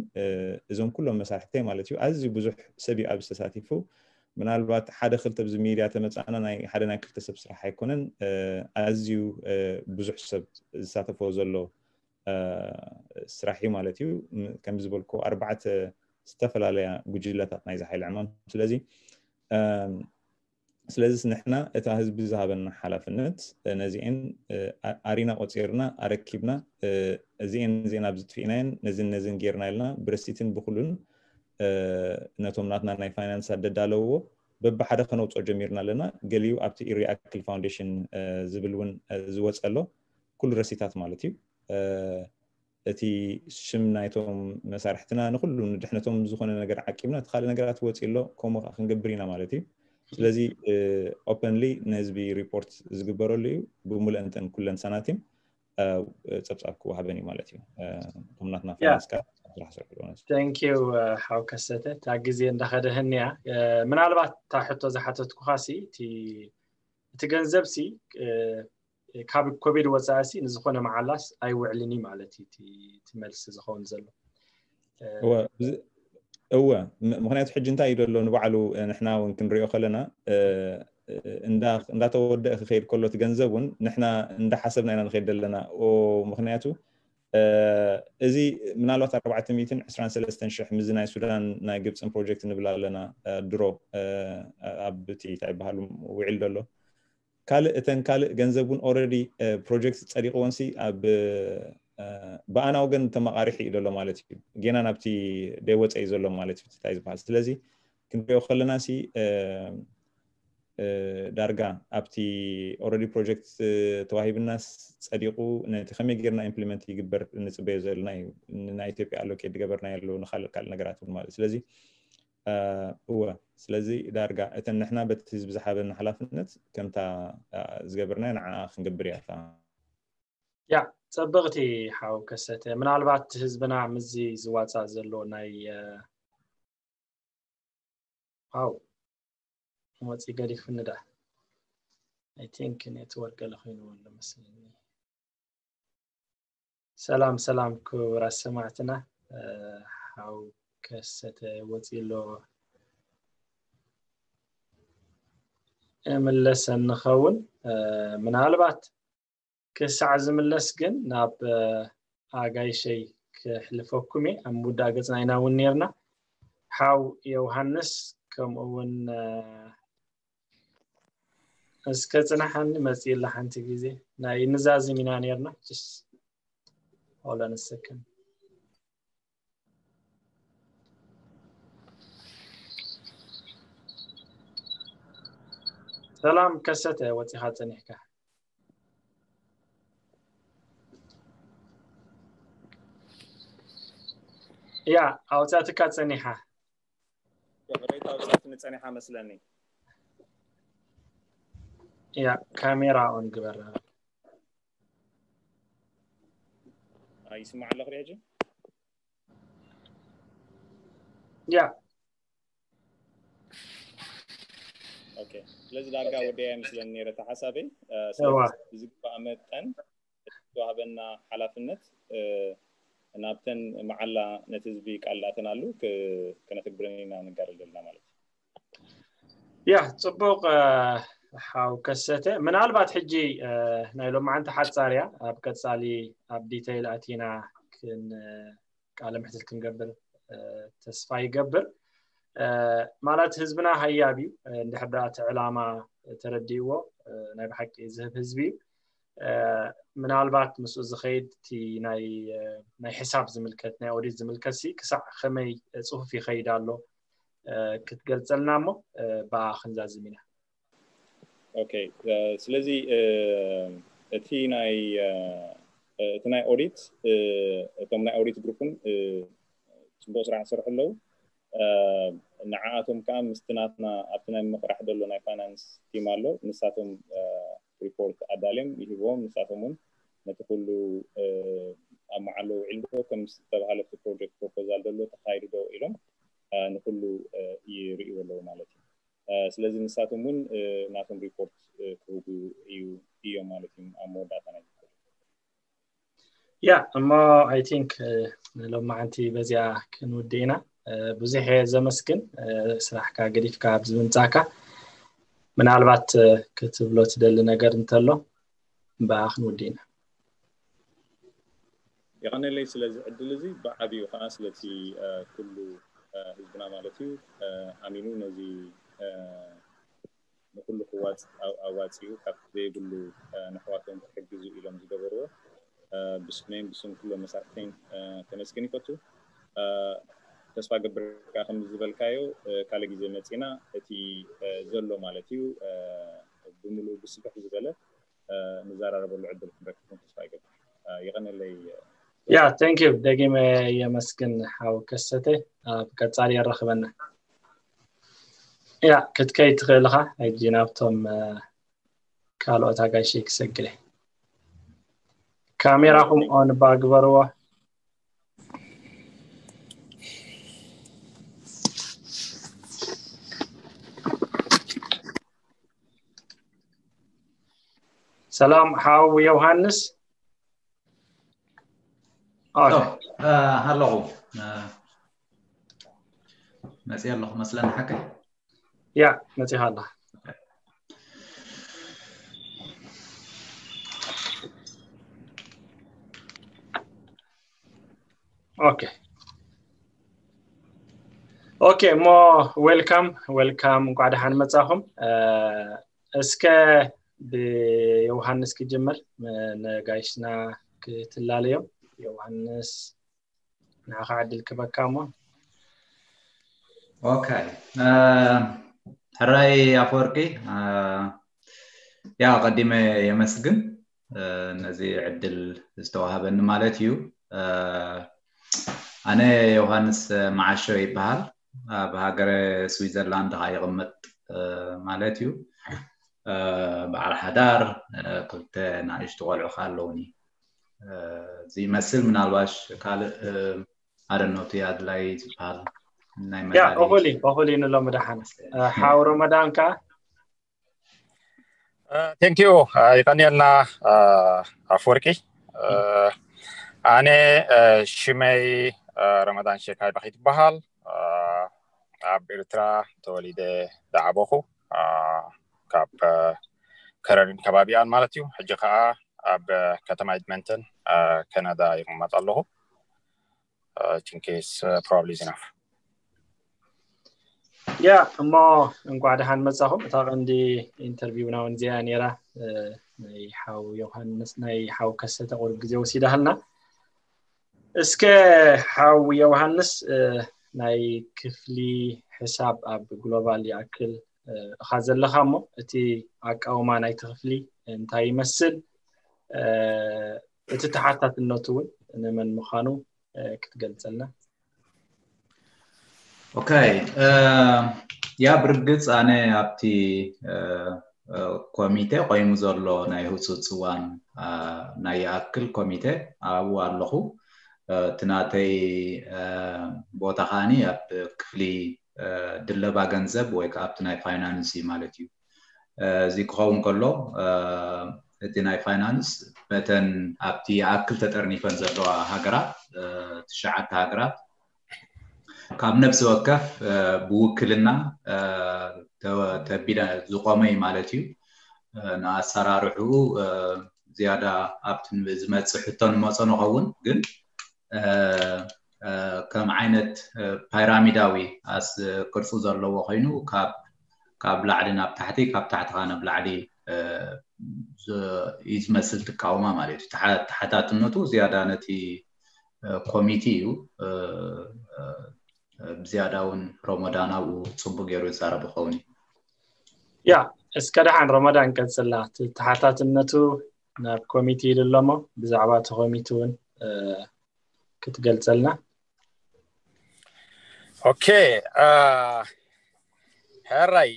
እዞም ኩሎም መሳርሕተይ ማለት እዩ። ኣዝዩ ብዙሕ ሰብ እዩ ኣብዚ ተሳቲፉ። ምናልባት ሓደ ክልተ ኣብዚ ሚድያ ተመፃእና ናይ ሓደ ናይ ክልተ ሰብ ስራሕ ኣይኮነን፣ ኣዝዩ ብዙሕ ሰብ ዝሳተፎ ዘሎ ስራሕ እዩ ማለት እዩ። ከም ዝበልኩ ኣርባዕተ ዝተፈላለያ ጉጅለታት ናይዚ ሓይሊ ዕማም። ስለዚ ስለዚስ ንሕና እታ ህዝቢ ዝሃበና ሓላፍነት ነዚኤን ኣሪና ቆፂርና ኣረኪብና እዚኤን እዚኤን ኣብ ዝጥፊእናየን ነዚን ነዚን ጌርና ኢልና ብረሲትን ብኩሉን ነቶም ናትና ናይ ፋይናንስ ኣደዳለውዎ በብሓደ ከነውፅኦ ጀሚርና ኣለና። ገሊኡ ኣብቲ ኢሪኣክል ፋውንዴሽን ዝብል እውን ዝወፀ ኣሎ፣ ኩሉ ረሲታት ማለት እዩ። እቲ ሽም ናይቶም መሳርሕትና ንኩሉ ንድሕነቶም ዝኾነ ነገር ዓቂብና እቲ ካልእ ነገራት ወፂ ኣሎ፣ ከምኡ ከዓ ክንገብር ኢና ማለት እዩ። ስለዚ ኦፐንሊ ንህዝቢ ሪፖርት ዝግበረሉ እዩ። ብምሉእንተን ኩለን ሳናቲም ፀብፃብ ክወሃበን እዩ ማለት እዩ። እቶም ናትና ፋይናንስ ከዓ ስራሕ ሰርሑ። Thank you ሓው ከሰተ። እታ ግዜ እንዳኸደህን እያ። ምናልባት እታ ሕቶ ዝሓተትኩኻ ሲ እቲ ገንዘብ ሲ ካብ ኮቪድ ወፃኢ ሲ ንዝኾነ መዓላስ ኣይውዕልን እዩ ማለት እዩ እቲ መልሲ ዝኸውን ዘሎ። እወ፣ ምክንያቱ ሕጂ እንታይ እዩ ዘሎ ንባዕሉ ንሕና እውን ክንሪኦ ከለና እንዳተወደአ ክኸይድ ከሎ እቲ ገንዘብ እውን ንሕና እንዳሓሰብና ኢና ንኸይድ ዘለና። ምክንያቱ እዚ ምናልባት ኣርባዕተ ሚእትን ዕስራን ሰለስተን ሽሕ ምዚ ናይ ሱዳን ናይ ግብፅን ፕሮጀክት ንብል ኣለና ድሮ ኣብ እቲ እንታይ ይበሃሉ ውዒል ዘሎ ካልእ እተን ካልእ ገንዘብ እውን ኦረዲ ፕሮጀክት ፀዲቕዎንሲ ኣብ ብኣና ወገን ተመቃሪሒ እዩ ዘሎ ማለት እዩ። ጌና ናብቲ ደይወፀ እዩ ዘሎ ማለት እዩ እንታይ ዝበሃል። ስለዚ ክንሪኦ ከለና ሲ ዳርጋ ኣብቲ ኦረዲ ፕሮጀክት ተዋሂብና ፀዲቑ ነቲ ከመይ ጌርና ኢምፕሊመንት ይግበር ንፅበዮ ዘለና እዩ። ናይ ኢትዮጵያ ኣሎኬት ዝገበርና ያለው ንካልእ ካልእ ነገራት እውን ማለት ስለዚ እወ ስለዚ ዳርጋ እተን ንሕና በቲ ህዝቢ ዝሓበና ሓላፍነት ከምታ ዝገበርናዮ ንዓ ክንገብር እያ እታ ያ ፀብቕቲ ሓው ከሰተ ምናልባት ህዝብና ምዚ ዝዋፃእ ዘሎ ናይ ኣው መፂ ገዲፍኒ ዳ I think network ገለ ኮይንዎ ኣሎ መስለኒ። ሰላም ሰላም ክቡራት ሰማዕትና፣ ሓው ከሰተ ወፂ ኣሎ። እምለሰ እንኸውን ምናልባት ክሳዕ ዝምለስ ግን ናብ ኣጋይሸይ ክሕልፈኩም እየ። ኣብ ምውዳእ ገፅና ኢና እውን ነርና። ሓው ዮሃንስ ከምኡ እውን እስከ ፅናሓኒ መፅእ ኢላ ሓንቲ ግዜ ናይ ንዛዝም ኢና ነርና። Just hold on a second። ሰላም ከሰተ ወፂኻ ፀኒሕካ። ያ ኣውፃትካ ፀኒሓ። ሬታ ውፅኣት ንፀኒሓ መስለኒ። ያ ካሜራ ኦን ግበራ። ይስማዕ ኣለኹ ሕጂ። ያ ኦኬ። ስለዚ ዳርጋ ወደያ ይመስለኒ ነይረ እቲ ሓሳበይ። እዋ። ብዝግባእ መጠን ዝተዋህበና ሓላፍነት ናብተን መዓላ ነቲ ህዝቢ ቃል ዳእተናሉ ክነተግብረን ኢና ንጋደል ዘለና ማለት እዩ። ያ ፅቡቕ። ሓው ከሰተ ምናልባት ሕጂ ናይ ሎማዓንቲ ሓፃር እያ። ኣብ ቀፃሊ ኣብ ዲተይል ኣቲና ክን ቃለ ምሕትት ክንገብር ተስፋ ይገብር። ማለት ህዝብና ሃያብ እዩ። እንድሕር ደኣ እቲ ዕላማ ተረዲእዎ ናይ ብሓቂ ዝህብ ህዝቢ እዩ። ምናልባት ምስኡ ዝኸይድ እቲ ናይ ሕሳብ ዝምልከት ናይ ኦዲት ዝምልከት ሲ ክሳዕ ከመይ ፅሁፍ ይኸይድ ኣሎ ክትገልፀልና እሞ ብኣ ክንዛዝም ኢና። ኦኬ። ስለዚ እቲ ናይ እቲ ናይ ኦዲት እቶም ናይ ኦዲት ግሩፕን ፅቡቅ ስራሕ ይሰርሑ ኣለዉ። ንዓኣቶም ከዓ ምስቲ ናትና ኣብቲ ናይ ምቕራሕ ዘሎ ናይ ፋይናንስ ቲም ኣሎ። ንሳቶም ሪፖርት ኣዳልዮም ይህብዎም። ንሳቶም እውን ነቲ ኩሉ ኣብ መዓሎ ውዒሉ ዶ ከም ዝተባሃለ እቲ ፕሮጀክት ፕሮፖዛል ዘሎ ተኻይዱ ዶ ኢሎም ንኩሉ ይርእዩ ኣለዉ ማለት እዩ። ስለዚ ንሳቶም እውን ናቶም ሪፖርት ክህቡ እዩ እዮም ማለት እዩ ኣብ መወዳእታ ናይ ያ እሞ I think ሎማዓንቲ በዚኣ ክንውድእ ኢና። ብዙሕ እየ ዘመስግን ስራሕካ ገዲፍካ ኣብዚ ምምፃእካ። ምናልባት ክትብሎ ትደሊ ነገር እንተሎ ብኣ ክንውድእ ኢና። የቐነለይ ስለዚ ዕድል እዚ ብዓብዩ ከዓ ስለቲ ኩሉ ህዝብና ማለት እዩ ኣሚኑ ነዚ ንኩሉ ክዋፅ ኣዋፂኡ ካብ ዘይብሉ ንሕዋቶም ክሕግዙ ኢሎም ዝገበርዎ ብስመይን ብስም ኩሎም መሳርሕተይን ከመስግን ይፈቱ። ተስፋ ገብር ከዓ ከም ዝበልካዮ ካልእ ግዜ መፂና እቲ ዘሎ ማለት እዩ ብምሉኡ ብስፍሕ ዝበለ ንዘራረበሉ ዕድል ክንረክብ ተስፋ ይገብር። ይቐነለይ። ያ thank you ደጊመ የመስግን ሓው ከሰተ። ኣብ ቀፃሊ የራኽበና። ያ ክትከይ ትኽእል ኢኻ። ሕጂ ናብቶም ካልኦት ኣጋይሸይ ክሰግር እየ። ካሜራኹም ኦን እባ ግበርዎ። ሰላም ሓው ዮሃንስ። ኣለኹ መፅእ ኣለኹ መስለኒ ሓቀይ። ያ መፂኻ ኣለኻ። ኦኬ ኦኬ እሞ welcome welcome እንኳዕ ደሓን መፃኹም። እስከ ብዮሃንስ ክጅምር ነጋይሽና ክትላለዮም። ዮሃንስ ንዓኻ ዕድል ክበካ እሞ። ኦኬ ሕራይ ኣፈወርቂ ያ ቀዲመ የመስግን ነዚ ዕድል ዝተዋሃበኒ ማለት እዩ። ኣነ ዮሃንስ መዓሾ ይበሃል። ኣብ ሃገረ ስዊዘርላንድ ከዓ ይቕመጥ ማለት እዩ። በዓል ሓዳር ክልተ ናእሽቱ ቆልዑ ከዓ ኣለውኒ። እዚ ይመስል ምናልባሽ ካልእ ኣደኖቲ ኣድላይ ዝበሃል ናይ ያ እኹል እዩ እኹል እዩ ንሎሚ ደሓን ሓው ረመዳን ከዓ Thank you. ይቀንየልና ኣፍወርቂ። ኣነ ሽመይ ረመዳን ሸካይ ባኺ ትበሃል። ኣብ ኤርትራ ተወሊደ ዝዓበኹ፣ ካብ ከረንን ከባቢኣን ማለት እዩ። ሕጂ ከዓ ኣብ ከተማ ኤድመንተን ከናዳ ይቕመጥ ኣለኹ። I think it's probably enough. ያ እሞ እንኳዕ ደሓን መጻኹም። እታ ቀንዲ ኢንተርቪውና እውን እዚኣ ነይራ። ናይ ሓው ዮሃንስ ናይ ሓው ከሰተ ቁሩብ ግዜ ወሲዳሃልና። እስከ ሓው ዮሃንስ ናይ ክፍሊ ሕሳብ ኣብ ግሎባል ይኣክል እኻ ዘለኻ እሞ እቲ ኣቃውማ ናይቲ ክፍሊ እንታይ ይመስል፣ እቲ ተሓታትነቱ እውን ንመን ምዃኑ ክትገልጸልና? ኦኬ፣ ያ ብርግጽ ኣነ ኣብቲ ኮሚቴ ቆይሙ ዘሎ ናይ ህፁፅ እዋን ናይ ይኣክል ኮሚቴ ኣብኡ ኣለኹ። እቲ ናተይ ቦታ ከዓኒ ኣብ ክፍሊ ድለባ ገንዘብ ወይ ከዓ ኣብቲ ናይ ፋይናንስ እዩ ማለት እዩ። እዚ ክኸውን ከሎ እቲ ናይ ፋይናንስ መተን ኣብቲ ይኣክል ተጠርኒፈን ዘለዋ ሃገራት ትሽዓተ ሃገራት ካብ ነብሲ ወከፍ ብውክልና ተቢለ ዝቆመ እዩ ማለት እዩ። ንኣሰራርሕኡ ዝያዳ ኣብቲ ዝመፅእ ሕቶ ንመፆ ንኸውን፣ ግን ከም ዓይነት ፓይራሚዳዊ ኣስ ቅርፂ ዘለዎ ኮይኑ ካብ ላዕሊ ናብ ታሕቲ ካብ ታሕቲ ካብ ናብ ላዕሊ እዩ ዝመስል ትቃውማ ማለት እዩ። ተሓታትነቱ ዝያዳ ነቲ ኮሚቲ እዩ። ብዝያዳ እውን ረመዳን ኣብኡ ፅቡቅ ገይሩ ይዛረብ ይኸውን እዩ። ያ እስከ ደሓን ረመዳን ቀፅላ ተሓታትነቱ ናብ ኮሚቲ ኢሉ ኣለሞ ብዛዕባ እቲ ኮሚቲ እውን ክትገልፀልና። ኦኬ ሕራይ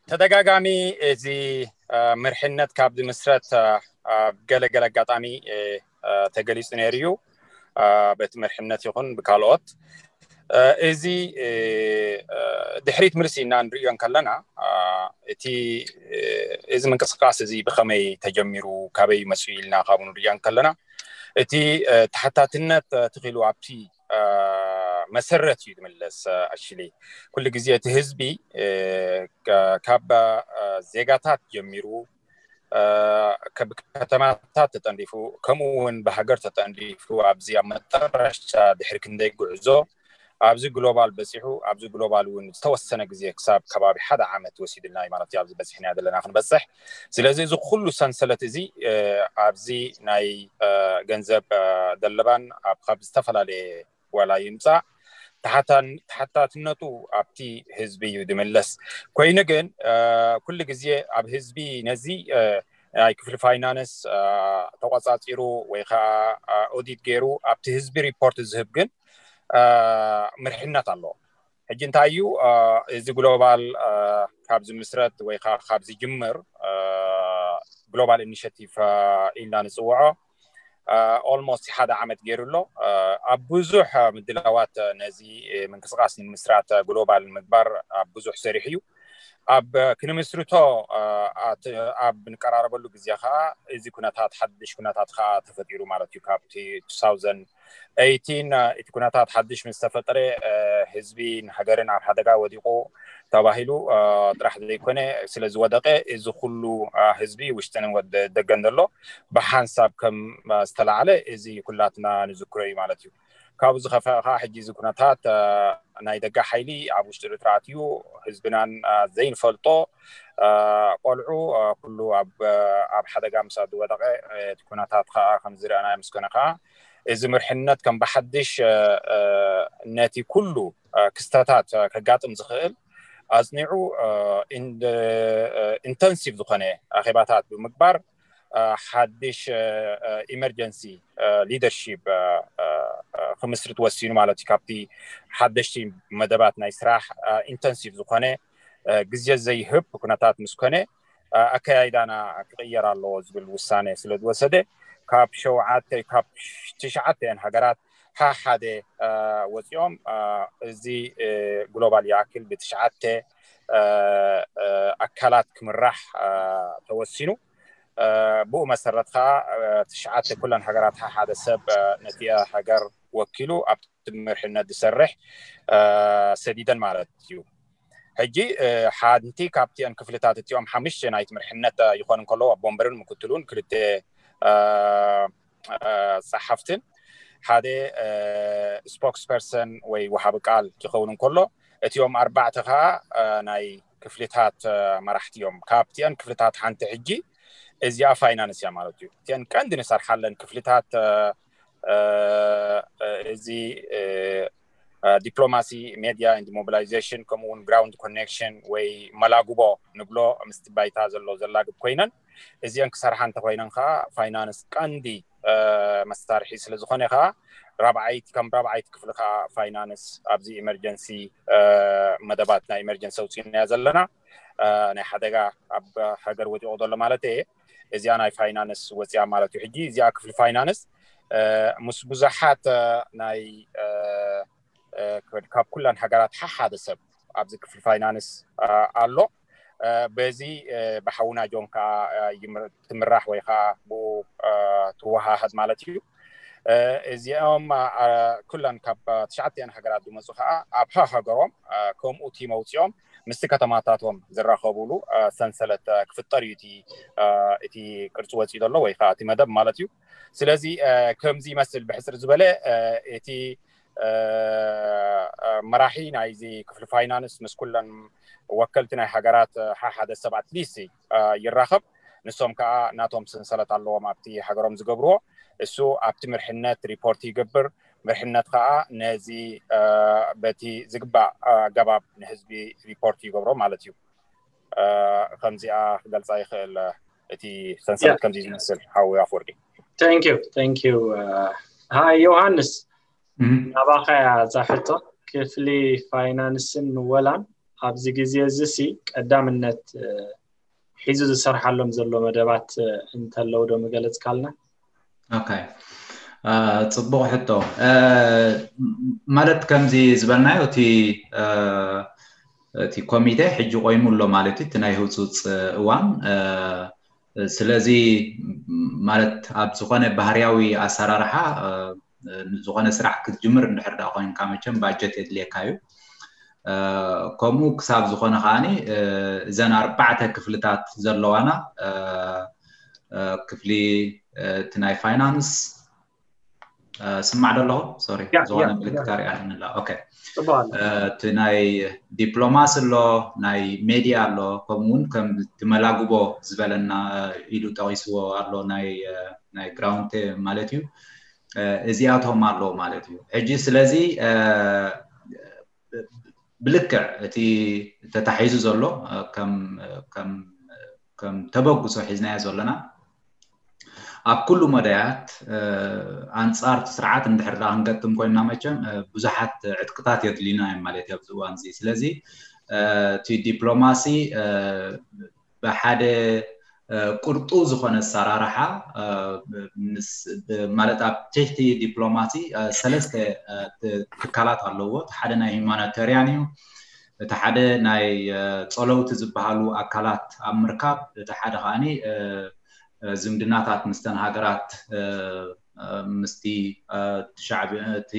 ተደጋጋሚ እዚ ምርሕነት ካብ ዝምስረት ኣብ ገለገለ ኣጋጣሚ ተገሊፁ ነይሩ እዩ። በቲ ምርሕነት ይኹን ብካልኦት እዚ ድሕሪት ምልስ ኢና ንርእዮ እንከለና እቲ እዚ ምንቅስቃስ እዚ ብኸመይ ተጀሚሩ ካበይ መፅኡ ኢልና ካብኡ ንርእዮ እንከለና እቲ ተሓታትነት ትኽኢሉ ኣብቲ መሰረት እዩ ዝምለስ። ኣሽሊ ኩሉ ግዜ እቲ ህዝቢ ካብ ዜጋታት ጀሚሩ ብከተማታት ተጠንዲፉ ከምኡ እውን ብሃገር ተጠንዲፉ ኣብዚ ኣብ መጠረሽታ ድሕሪ ክንደይ ጉዕዞ ኣብዚ ግሎባል በፂሑ ኣብዚ ግሎባል እውን ዝተወሰነ ግዜ ክሳብ ከባቢ ሓደ ዓመት ወሲድልና እዩ ማለት እዩ። ኣብዚ በፂሕና ዘለና ክንበፅሕ። ስለዚ እዚ ኩሉ ሰንሰለት እዚ ኣብዚ ናይ ገንዘብ ደለባን ኣብ ካብ ዝተፈላለየ ዋላ ይምፃእ ተሓታትነቱ ኣብቲ ህዝቢ እዩ ዝምለስ። ኮይኑ ግን ኩሉ ግዜ ኣብ ህዝቢ ነዚ ናይ ክፍሊ ፋይናንስ ተቆፃፂሩ ወይ ከዓ ኦዲት ገይሩ ኣብቲ ህዝቢ ሪፖርት ዝህብ ግን ምርሕነት ኣሎ። ሕጂ እንታይ እዩ እዚ ግሎባል ካብ ዝምስረት ወይ ከዓ ካብ ዝጅምር ግሎባል ኢኒሽቲቭ ኢልና ንፅውዖ ኦልሞስት ሓደ ዓመት ገይሩ ኣሎ። ኣብ ብዙሕ ምድላዋት ነዚ ምንቅስቃስ ንምስራት ግሎባል ምግባር ኣብ ብዙሕ ሰሪሑ እዩ። ኣብ ክንምስርቶ ኣብ ንቀራረበሉ ግዜ ከዓ እዚ ኩነታት ሓድሽ ኩነታት ከዓ ተፈጢሩ ማለት እዩ። ካብቲ two thousand eighteen እቲ ኩነታት ሓድሽ ምስ ተፈጠረ ህዝቢ ንሃገርን ኣብ ሓደጋ ወዲቁ ተባሂሉ ጥራሕ ዘይኮነ ስለ ዝወደቀ እዚ ኩሉ ህዝቢ ውሽጥን ደገን ዘሎ ብሓንሳብ ከም ዝተላዓለ እዚ ኩላትና ንዝክሮ እዩ ማለት እዩ። ካብኡ ዝኸፍአ ከዓ ሕጂ እዚ ኩነታት ናይ ደገ ሓይሊ ኣብ ውሽጢ ኤርትራ ኣትዩ ህዝብናን ዘይንፈልጦ ቆልዑ ኩሉ ኣብ ሓደጋ ምስ ዝወደቀ እቲ ኩነታት ከዓ ከም ዝረኣናዮ ምስ ኮነ ከዓ እዚ ምርሕነት ከም ብሓድሽ ነቲ ኩሉ ክስተታት ከጋጥም ዝኽእል ኣፅኒዑ ኢንተንሲቭ ዝኾነ ኣኼባታት ብምግባር ሓድሽ ኢመርጀንሲ ሊደርሺፕ ክምስርት ወሲኑ ማለት እዩ። ካብቲ ሓደሽቲ መደባት ናይ ስራሕ ኢንተንሲቭ ዝኾነ ግዜ ዘይህብ ኩነታት ምስ ኮነ ኣከያይዳና ክቕየር ኣለዎ ዝብል ውሳነ ስለ ዝወሰደ ካብ ሸውዓተ ካብ ትሽዓተ እየን ሃገራት ሓደ ወፂኦም እዚ ግሎባል ይኣክል ብትሽዓተ ኣካላት ክምራሕ ተወሲኑ። ብኡ መሰረት ከዓ ትሽዓተ ኩለን ሃገራት ሓደ ሰብ ነቲ ሃገር ወኪሉ ኣብቲ ምርሕነት ዝሰርሕ ሰዲደን ማለት እዩ። ሕጂ ሓንቲ ካብቲአን ክፍልታት እቲኦም ሓሙሽተ ናይቲ ምርሕነት ይኾን እንከሎ ኣቦ ወንበርን ምክትሉን ክልተ ጸሓፍትን ሓደ ስፖክስፐርሰን ወይ ወሃቢ ቃል ክኸውን እንከሎ እቲኦም ኣርባዕተ ከዓ ናይ ክፍልታት መራሕቲ እዮም። ካብቲአን ክፍልታት ሓንቲ ሕጂ እዚኣ ፋይናንስ እያ ማለት እዩ። እቲአን ቀንዲ ንሰርሓለን ክፍልታት እዚ ዲፕሎማሲ፣ ሜድያ and ሞቢላይዜሽን ከምኡ እውን ግራውንድ ኮኔክሽን ወይ መላጉቦ ንብሎ ምስቲ ባይታ ዘሎ ዘላግብ ኮይነን እዚአን ክሰርሓ እንተኮይነን ከዓ ፋይናንስ ቀንዲ መሳርሒ ስለዝኾነ ከዓ ራብዓይቲ ከም ራብዓይቲ ክፍሊ ከዓ ፋይናንስ ኣብዚ ኢመርጀንሲ መደባት ናይ ኢመርጀንሲ ኣውፂእናያ ዘለና ናይ ሓደጋ ኣብ ሃገር ወዲቑ ዘሎ ማለት እየ። እዚኣ ናይ ፋይናንስ ወፂኣ ማለት እዩ። ሕጂ እዚኣ ክፍሊ ፋይናንስ ምስ ብዙሓት ናይ ካብ ኩለን ሃገራት ሓሓደ ሰብ ኣብዚ ክፍሊ ፋይናንስ ኣሎ። በዚ ብሓውና ጆን ከዓ ትምራሕ ወይ ከዓ ብኡ ትወሃሃድ ማለት እዩ። እዚኦም ኩለን ካብ ትሽዓተን ሃገራት ዝመፁ ከዓ ኣብ ሃገሮም ከምኡ ቲም ኣውፂኦም ምስቲ ከተማታቶም ዝራኸቡሉ ሰንሰለት ክፍጠር እዩ እቲ ቅርፂ ወፂኡ ዘሎ ወይ ከዓ እቲ መደብ ማለት እዩ። ስለዚ ከምዚ ይመስል ብሕፅር ዝበለ እቲ መራሒ ናይዚ ክፍሊ ፋይናንስ ምስ ኩለን ወከልቲ ናይ ሃገራት ሓሓደ ሰብ ኣትሊስት ይራኸብ። ንሶም ከዓ ናቶም ሰንሰለት ኣለዎም ኣብቲ ሃገሮም ዝገብርዎ። እሱ ኣብቲ ምርሕነት ሪፖርት ይገብር። ምርሕነት ከዓ ነዚ በቲ ዝግባእ ኣገባብ ንህዝቢ ሪፖርት ይገብሮ ማለት እዩ። ከምዚኣ ክገልፃ ይኽእል። እቲ ሰንሰለት ከምዚ ዝመስል ሓዊ ኣፍወርቂ። Thank you, thank you. ሃይ ዮሃንስ፣ ናባኻ እያ እዛ ሕቶ። ክፍሊ ፋይናንስን ምወላን ኣብዚ ግዜ እዚ ሲ ቀዳምነት ሒዙ ዝሰርሓሎም ዘሎ መደባት እንተለው ዶ ምገለጽካልና? ኦኬ፣ ፅቡቕ ሕቶ። ማለት ከምዚ ዝበልናዮ እቲ እቲ ኮሚቴ ሕጂ ቆይሙ ኣሎ ማለት እዩ፣ እቲ ናይ ህውፅውፅ እዋን። ስለዚ ማለት ኣብ ዝኾነ ባህርያዊ ኣሰራርሓ ዝኾነ ስራሕ ክትጅምር እንድሕር ዳ ኮይንካ መቸም ባጀት የድልየካ እዩ። ከምኡ ክሳብ ዝኾነ ከዓኒ እዘን ኣርባዕተ ክፍልታት ዘለዋና ክፍሊ እቲ ናይ ፋይናንስ ስማዕ ዶ ኣለኹ? ሶሪ፣ ዝኾነ ምልክት ኣሪኣልንላ። ኦኬ፣ እቲ ናይ ዲፕሎማሲ ኣሎ፣ ናይ ሜድያ ኣሎ፣ ከምኡ እውን ከም ትመላጉቦ ዝበለና ኢሉ ጠቂስዎ ኣሎ ናይ ግራውንድ ማለት እዩ። እዚኣቶም ኣለዉ ማለት እዩ። ሕጂ ስለዚ ብልክዕ እቲ ተታሒዙ ዘሎ ከም ተበግሶ ሒዝናዮ ዘለና ኣብ ኩሉ መዳያት ኣንፃር እቲ ስርዓት እንድሕር ዳ ክንገጥም ኮይንና መቸም ብዙሓት ዕጥቅታት የድልዩና እዮም ማለት እዩ ኣብዚ እዋን እዚ። ስለዚ እቲ ዲፕሎማሲ ብሓደ ቅርጡ ዝኾነ ኣሰራርሓ ማለት ኣብ ትሕቲ ዲፕሎማሲ ሰለስተ ትካላት ኣለዎ። እቲ ሓደ ናይ ሁማኒታሪያን እዩ። እቲ ሓደ ናይ ፀለውቲ ዝበሃሉ ኣካላት ኣብ ምርካብ፣ እቲ ሓደ ከዓኒ ዝምድናታት ምስተን ሃገራት ምስቲ እቲ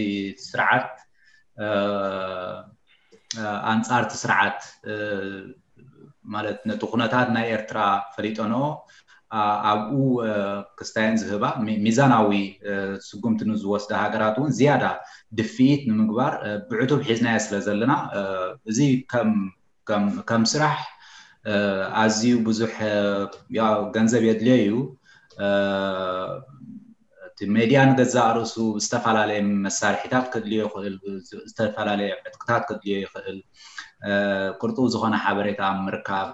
ስርዓት ኣንፃር እቲ ስርዓት ማለት ነቲ ኩነታት ናይ ኤርትራ ፈሊጠንኦ ኣብኡ ክስታየን ዝህባ ሚዛናዊ ስጉምቲ ንዝወስዳ ሃገራት እውን ዝያዳ ድፍኢት ንምግባር ብዕቱብ ሒዝናዮ ስለ ዘለና እዚ ከም ከም ስራሕ ኣዝዩ ብዙሕ ገንዘብ የድልዮ እዩ። እቲ ሜድያ ንገዛእ ርእሱ ዝተፈላለየ መሳርሒታት ከድልዮ ይኽእል፣ ዝተፈላለየ ዕጥቅታት ከድልዮ ይኽእል። ቅርጡው ዝኾነ ሓበሬታ ኣብ ምርካብ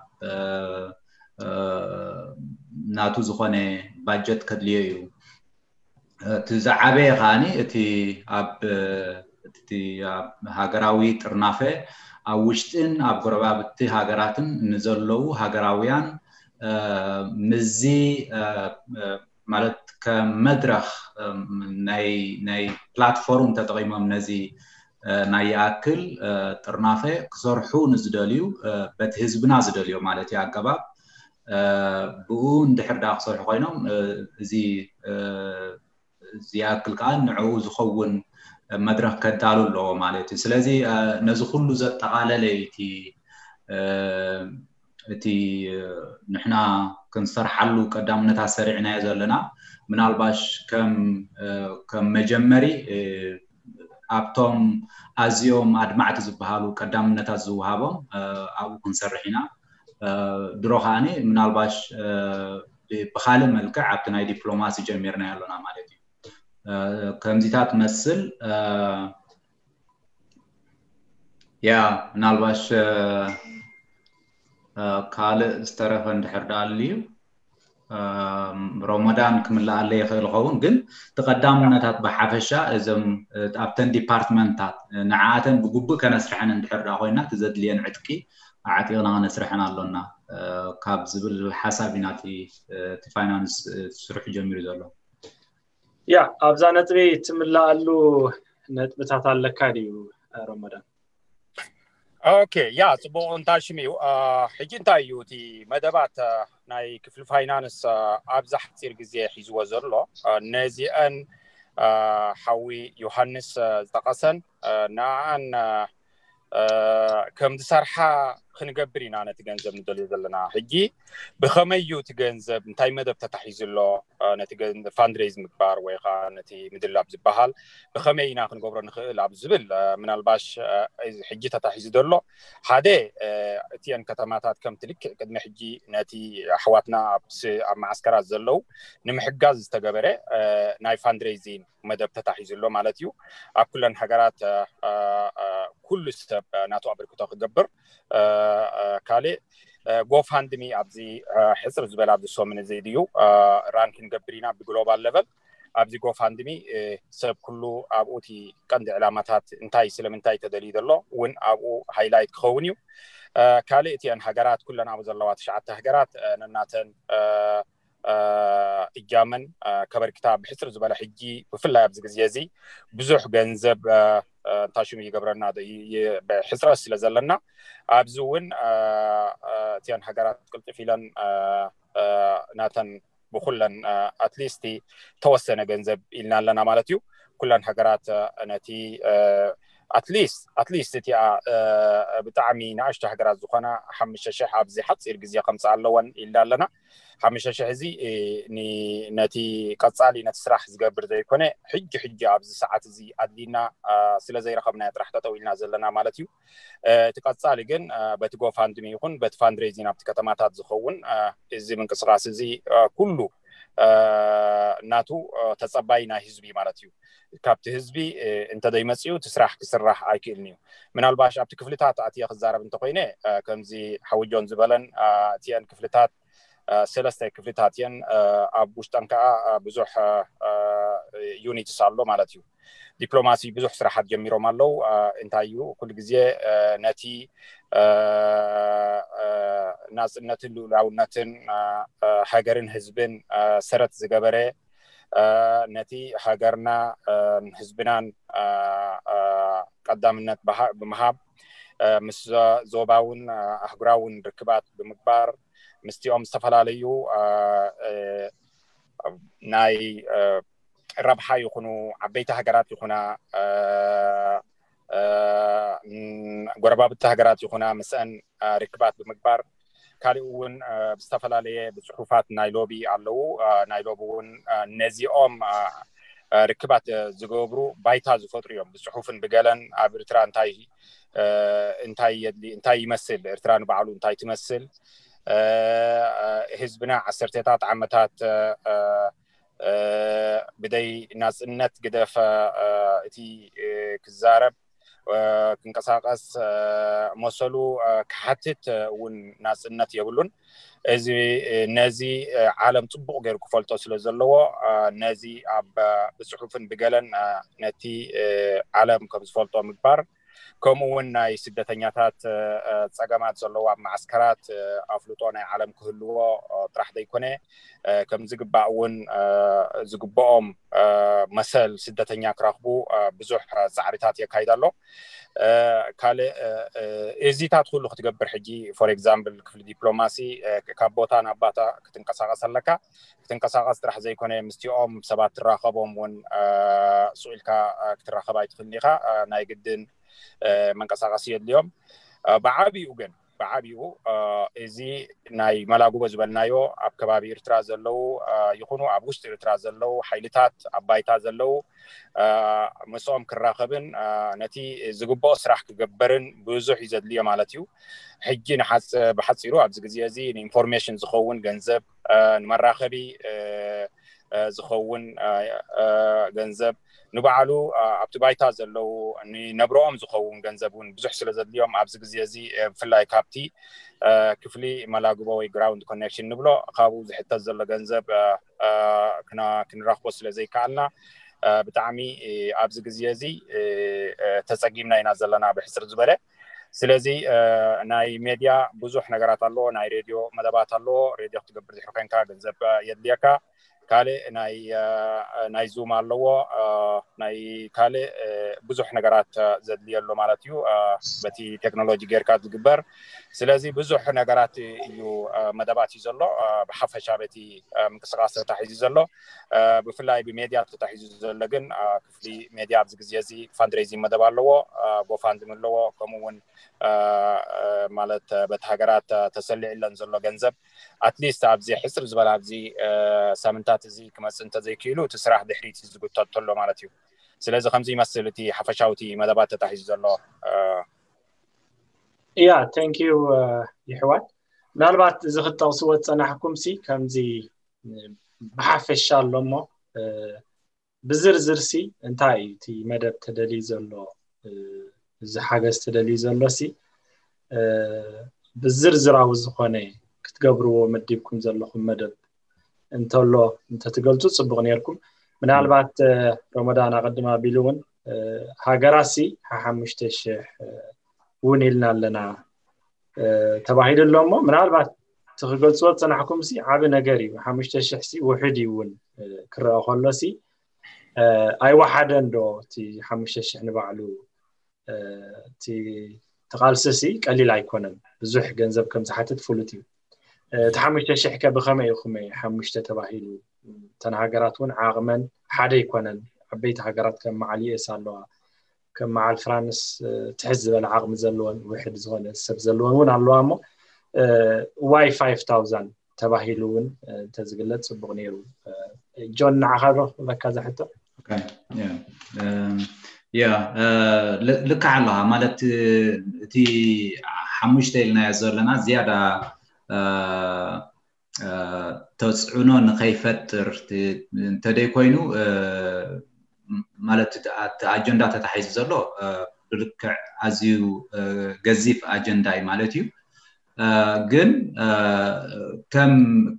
ናቱ ዝኾነ ባጀት ከድልዮ እዩ። እቲ ዝዓበየ ከዓኒ እቲ ኣብ እቲ ኣብ ሃገራዊ ጥርናፈ ኣብ ውሽጥን ኣብ ጎረባብቲ ሃገራትን ንዘለዉ ሃገራውያን ምዚ ማለት ከም መድረኽ ናይ ናይ ፕላትፎርም ተጠቒሞም ነዚ ናይ ይኣክል ጥርናፈ ክሰርሑ ንዝደልዩ፣ በቲ ህዝብና ዝደልዮ ማለት እዩ ኣገባብ፣ ብኡ እንድሕር ዳ ክሰርሑ ኮይኖም፣ እዚ ዝኣክል ከዓ ንዕኡ ዝኸውን መድረክ ከዳሉ ኣለዎ ማለት እዩ። ስለዚ ነዚ ኩሉ ዘጠቓለለ እዩ እቲ እቲ ንሕና ክንሰርሓሉ ቀዳምነታት ሰሪዕናዮ ዘለና። ምናልባሽ ከም ከም መጀመሪ ኣብቶም ኣዝዮም ኣድማዕቲ ዝበሃሉ ቀዳምነታት ዝወሃቦም ኣብኡ ክንሰርሕ ኢና። ድሮ ከዓኒ ምናልባሽ ብካልእ መልክዕ ኣብቲ ናይ ዲፕሎማሲ ጀሚርናዮ ኣለና ማለት እዩ። ከምዚታት መስል ያ ምናልባሽ ካልእ ዝተረፈ እንድሕር ዳኣልዩ ረመዳን ክምልኣለ ይኽእል ይኸውን፣ ግን እቲ ቀዳምነታት ብሓፈሻ እዞም ኣብተን ዲፓርትመንታት ንዓኣተን ብግቡእ ከነስርሐን እንድሕር ዳ ኮይና እቲ ዘድልየን ዕጥቂ ኣዕጢቕና ከነስርሐን ኣሎና ካብ ዝብል ሓሳብ ኢና እቲ ፋይናንስ ስርሑ ጀሚሩ ዘሎ። ያ ኣብዛ ነጥቢ ትምልኣሉ ነጥብታት ኣለካ ድዩ ረመዳን? ኦኬ ያ ጽቡቕ እንታሽም እዩ። ሕጂ እንታይ እዩ እቲ መደባት ናይ ክፍሊ ፋይናንስ ኣብዚ ሓፂር ግዜ ሒዝዎ ዘሎ? ነዚአን ሓዊ ዮሃንስ ዝጠቐሰን ንኣን ከም ዝሰርሓ ክንገብር ኢና ነቲ ገንዘብ ንደልዮ ዘለና። ሕጂ ብኸመይ እዩ እቲ ገንዘብ እንታይ መደብ ተታሒዙ ኣሎ? ነቲ ፋንድሬዝ ምግባር ወይ ከዓ ነቲ ምድላብ ዝበሃል ብኸመይ ኢና ክንገብሮ ንኽእል ኣብ ዝብል ምናልባሽ ሕጂ ተታሒዙ ዘሎ ሓደ እቲአን ከተማታት ከምቲ ልክዕ ቅድሚ ሕጂ ነቲ ኣሕዋትና ኣብ መዓስከራት ዘለዉ ንምሕጋዝ ዝተገበረ ናይ ፋንድሬዚን መደብ ተታሒዙ ኣሎ ማለት እዩ። ኣብ ኩለን ሃገራት ኩሉ ሰብ ናቱ ኣበርክቶ ክገብር ካልእ ጎፋንድሚ ኣብዚ ሕፅር ዝበለ ኣብዚ ሰሙን እዚ ድዩ ራን ክንገብር ኢና ብግሎባል ለቨል ኣብዚ ጎፋንድሚ ሰብ ኩሉ ኣብኡ እቲ ቀንዲ ዕላማታት እንታይ ስለምንታይ ተደልዩ ዘሎ እውን ኣብኡ ሃይላይት ክኸውን እዩ። ካልእ እቲአን ሃገራት ኩለን ኣብኡ ዘለዋ ትሽዓተ ሃገራት ነናተን እጃመን ከበርክታ ብሕፅር ዝበለ ሕጂ ብፍላይ ኣብዚ ግዜ እዚ ብዙሕ ገንዘብ እንታሽሙ ይገብረና ብሕፅረት ስለ ዘለና ኣብዚ እውን እቲአን ሃገራት ቅልጥፍ ኢለን ናተን ብኩለን ኣትሊስት ተወሰነ ገንዘብ ኢልና ኣለና ማለት እዩ። ኩለን ሃገራት ነቲ ኣትሊስት ኣትሊስት እቲኣ ብጣዕሚ ንኣሽቱ ሃገራት ዝኾና ሓሙሽተ ሽሕ ኣብዚ ሓፂር ግዜ ከምፅኣ ኣለወን ኢልና ኣለና። ሓሙሽተ ሽሕ እዚ ነቲ ቀፃሊ ነቲ ስራሕ ዝገብር ዘይኮነ ሕጂ ሕጂ ኣብዚ ሰዓት እዚ ኣድሊና ስለ ዘይረኸብናዮ ጥራሕ ጠጠው ኢልና ዘለና ማለት እዩ። እቲ ቀፃሊ ግን በቲ ጎፋንድሚ ይኹን በቲ ፋንድሬዚን ኣብቲ ከተማታት ዝኸውን እዚ ምንቅስቃስ እዚ ኩሉ ናቱ ተፀባይ ናይ ህዝቢ ማለት እዩ። ካብቲ ህዝቢ እንተዘይመፅኡ እቲ ስራሕ ክስራሕ ኣይክእልን እዩ። ምናልባሽ ኣብቲ ክፍልታት ኣትየ ክዛረብ እንተኮይነ ከምዚ ሓወጆን ዝበለን እቲአን ክፍልታት ሰለስተ ክፍልታት እየን። ኣብ ውሽጠን ከዓ ብዙሕ ዩኒትስ ኣሎ ማለት እዩ። ዲፕሎማሲ ብዙሕ ስራሓት ጀሚሮም ኣለዉ። እንታይ እዩ ኩሉ ግዜ ነቲ ናፅነትን ልኡላውነትን ሃገርን ህዝብን ሰረት ዝገበረ ነቲ ሃገርና ህዝብናን ቀዳምነት ብምሃብ ምስ ዞባውን ኣህጉራውን ርክባት ብምግባር ምስቲኦም ዝተፈላለዩ ናይ ረብሓ ይኹኑ ዓበይቲ ሃገራት ይኹና ጎረባብቲ ሃገራት ይኹና ምስአን ርክባት ብምግባር ካልእ እውን ብዝተፈላለየ ብፅሑፋት ናይ ሎቢ ኣለዉ። ናይ ሎቢ እውን ነዚኦም ርክባት ዝገብሩ ባይታ ዝፈጥሩ እዮም። ብፅሑፍን ብገለን ኣብ ኤርትራ እንታይ እንታይ የድሊ እንታይ ይመስል ኤርትራ ንባዕሉ እንታይ ትመስል ህዝብና ዓሰርተታት ዓመታት ብደይ ናፅነት ግደፈ እቲ ክዛረብ ክንቀሳቀስ መሰሉ ክሓትት እውን ናፅነት የብሉን። እዚ ነዚ ዓለም ፅቡቅ ገይሩ ክፈልጦ ስለ ዘለዎ ነዚ ኣብ ብፅሑፍን ብገለን ነቲ ዓለም ከም ዝፈልጦ ምግባር ከምኡ እውን ናይ ስደተኛታት ጸገማት ዘለዎ ኣብ መዓስከራት ኣፍልጦ ናይ ዓለም ክህልዎ ጥራሕ ዘይኮነ፣ ከም ዝግባእ እውን ዝግብኦም መሰል ስደተኛ ክረኽቡ ብዙሕ ጻዕሪታት የካይድ ኣሎ። ካልእ እዚታት ኩሉ ክትገብር ሕጂ for example ክፍሊ ዲፕሎማሲ ካብ ቦታ ናብ ባታ ክትንቀሳቐስ ኣለካ። ክትንቀሳቐስ ጥራሕ ዘይኮነ ምስቲኦም ሰባት ትራኸቦም እውን ስኢልካ ክትራኸብ ኣይትኽእልን ኢኻ። ናይ ግድን መንቀሳቐሲ የድልዮም። ብዓቢኡ ግን ብዓቢኡ እዚ ናይ መላጉቦ ዝበልናዮ ኣብ ከባቢ ኤርትራ ዘለዉ ይኹኑ ኣብ ውሽጢ ኤርትራ ዘለዉ ሓይልታት ኣብ ባይታ ዘለዉ ምስኦም ክራኸብን ነቲ ዝግብኦ ስራሕ ክገበርን ብዙሕ እዩ ዘድልዮ ማለት እዩ። ሕጂ ንሓፅ ብሓፂሩ ኣብዚ ግዜ እዚ ንኢንፎርሜሽን ዝኸውን ገንዘብ፣ ንመራኸቢ ዝኸውን ገንዘብ፣ ንባዕሉ ኣብቲ ባይታ ዘለዉ ንነብረኦም ዝኸውን ገንዘብ እውን ብዙሕ ስለ ዘድልዮም ኣብዚ ግዜ እዚ ብፍላይ ካብቲ ክፍሊ መላግቦ ወይ ግራውንድ ኮኔክሽን ንብሎ ካብኡ ዝሕተት ዘሎ ገንዘብ ክንረኽቦ ስለ ዘይከኣልና ብጣዕሚ ኣብዚ ግዜ እዚ ተፀጊምና ኢና ዘለና ብሕፅር ዝበለ። ስለዚ ናይ ሜድያ ብዙሕ ነገራት ኣለዎ። ናይ ሬድዮ መደባት ኣለዎ። ሬድዮ ክትገብር ድሕሪ ኮንካ ገንዘብ የድልየካ። ካልእ ናይ ናይ ዙም ኣለዎ። ናይ ካልእ ብዙሕ ነገራት ዘድልየሎ ማለት እዩ። በቲ ቴክኖሎጂ ጌርካ ዝግበር። ስለዚ ብዙሕ ነገራት እዩ መደባት እዩ ዘሎ። ብሓፈሻ በቲ ምንቅስቃስ ተታሒዙ ዘሎ ብፍላይ ብሜድያ ተታሒዙ ዘሎ ግን ክፍሊ ሜድያ ኣብዚ ግዜ እዚ ፋንድሬዚንግ መደብ ኣለዎ። ጎፋንድሚ ኣለዎ። ከምኡ እውን ማለት በቲ ሃገራት ተሰሊዕለን ዘሎ ገንዘብ ኣትሊስት ኣብዚ ሕፅር ዝበለ ኣብዚ ሳምንታት እዚ ክመፅእ እንተዘይክኢሉ እቲ ስራሕ ድሕሪት ዝጉተት ተሎ ማለት እዩ። ስለዚ ከምዚ ይመስል እቲ ሓፈሻዊ እቲ መደባት ተታሒዙ ዘሎ። እያ thank you ይሕዋት። ምናልባት እዚ ክትጠቕስዎ ዝፀናሕኩም ሲ ከምዚ ብሓፈሻ ኣሎ እሞ ብዝርዝር ሲ እንታይ እዩ እቲ መደብ ተደልዩ ዘሎ? እዚ ሓገዝ ተደልዩ ዘሎ ሲ ብዝርዝራዊ ዝኾነ ክትገብርዎ መዲብኩም ዘለኹም መደብ እንተሎ እንተትገልፁ ፅቡቕ ነርኩም። ምናልባት ረመዳን ኣቐድም ኣቢሉ እውን ሃገራት ሲ ሓሙሽተ ሽሕ እውን ኢልና ኣለና ተባሂሉ ኣሎ እሞ ምናልባት እቲ ክገልፅዎ ዝፀናሕኩም ሲ ዓቢ ነገር እዩ። ሓሙሽተ ሽሕ ሲ ውሕድ እዩ እውን ክረአ ከሎ ሲ ኣይወሓደን ዶ እቲ ሓሙሽተ ሽሕ ንባዕሉ? እቲ ተቓልሲ ሲ ቀሊል ኣይኮነን። ብዙሕ ገንዘብ ከም ዝሓትት ፍሉጥ እዩ። እቲ ሓሙሽተ ሽሕ ከ ብኸመይ እዩ? ከመይ ሓሙሽተ ተባሂሉ? እተን ሃገራት እውን ዓቕመን ሓደ ኣይኮነን። ዓበይቲ ሃገራት ከም መዓል ዩኤስ ኣለዋ። ከም መዓል ፍራንስ ትሕት ዝበለ ዓቕሚ ዘለወን ውሕድ ዝኾነ ሰብ ዘለወን እውን ኣለዋ እሞ why five thousand ተባሂሉ እውን እንተዝግለፅ ፅቡቕ ነይሩ። ጆን ንዓኻ ዶ ክብለካ ዝሕቶ? ያ ልክዕ ኣለኻ ማለት እቲ ሓሙሽተ ኢልናዮ ዘለና ዝያዳ ተፅዕኖ ንኸይፈጥር እንተደይ ኮይኑ ማለት እቲ ኣጀንዳ ተታሒዙ ዘሎ ብልክዕ ኣዝዩ ገዚፍ ኣጀንዳ እዩ ማለት እዩ። ግን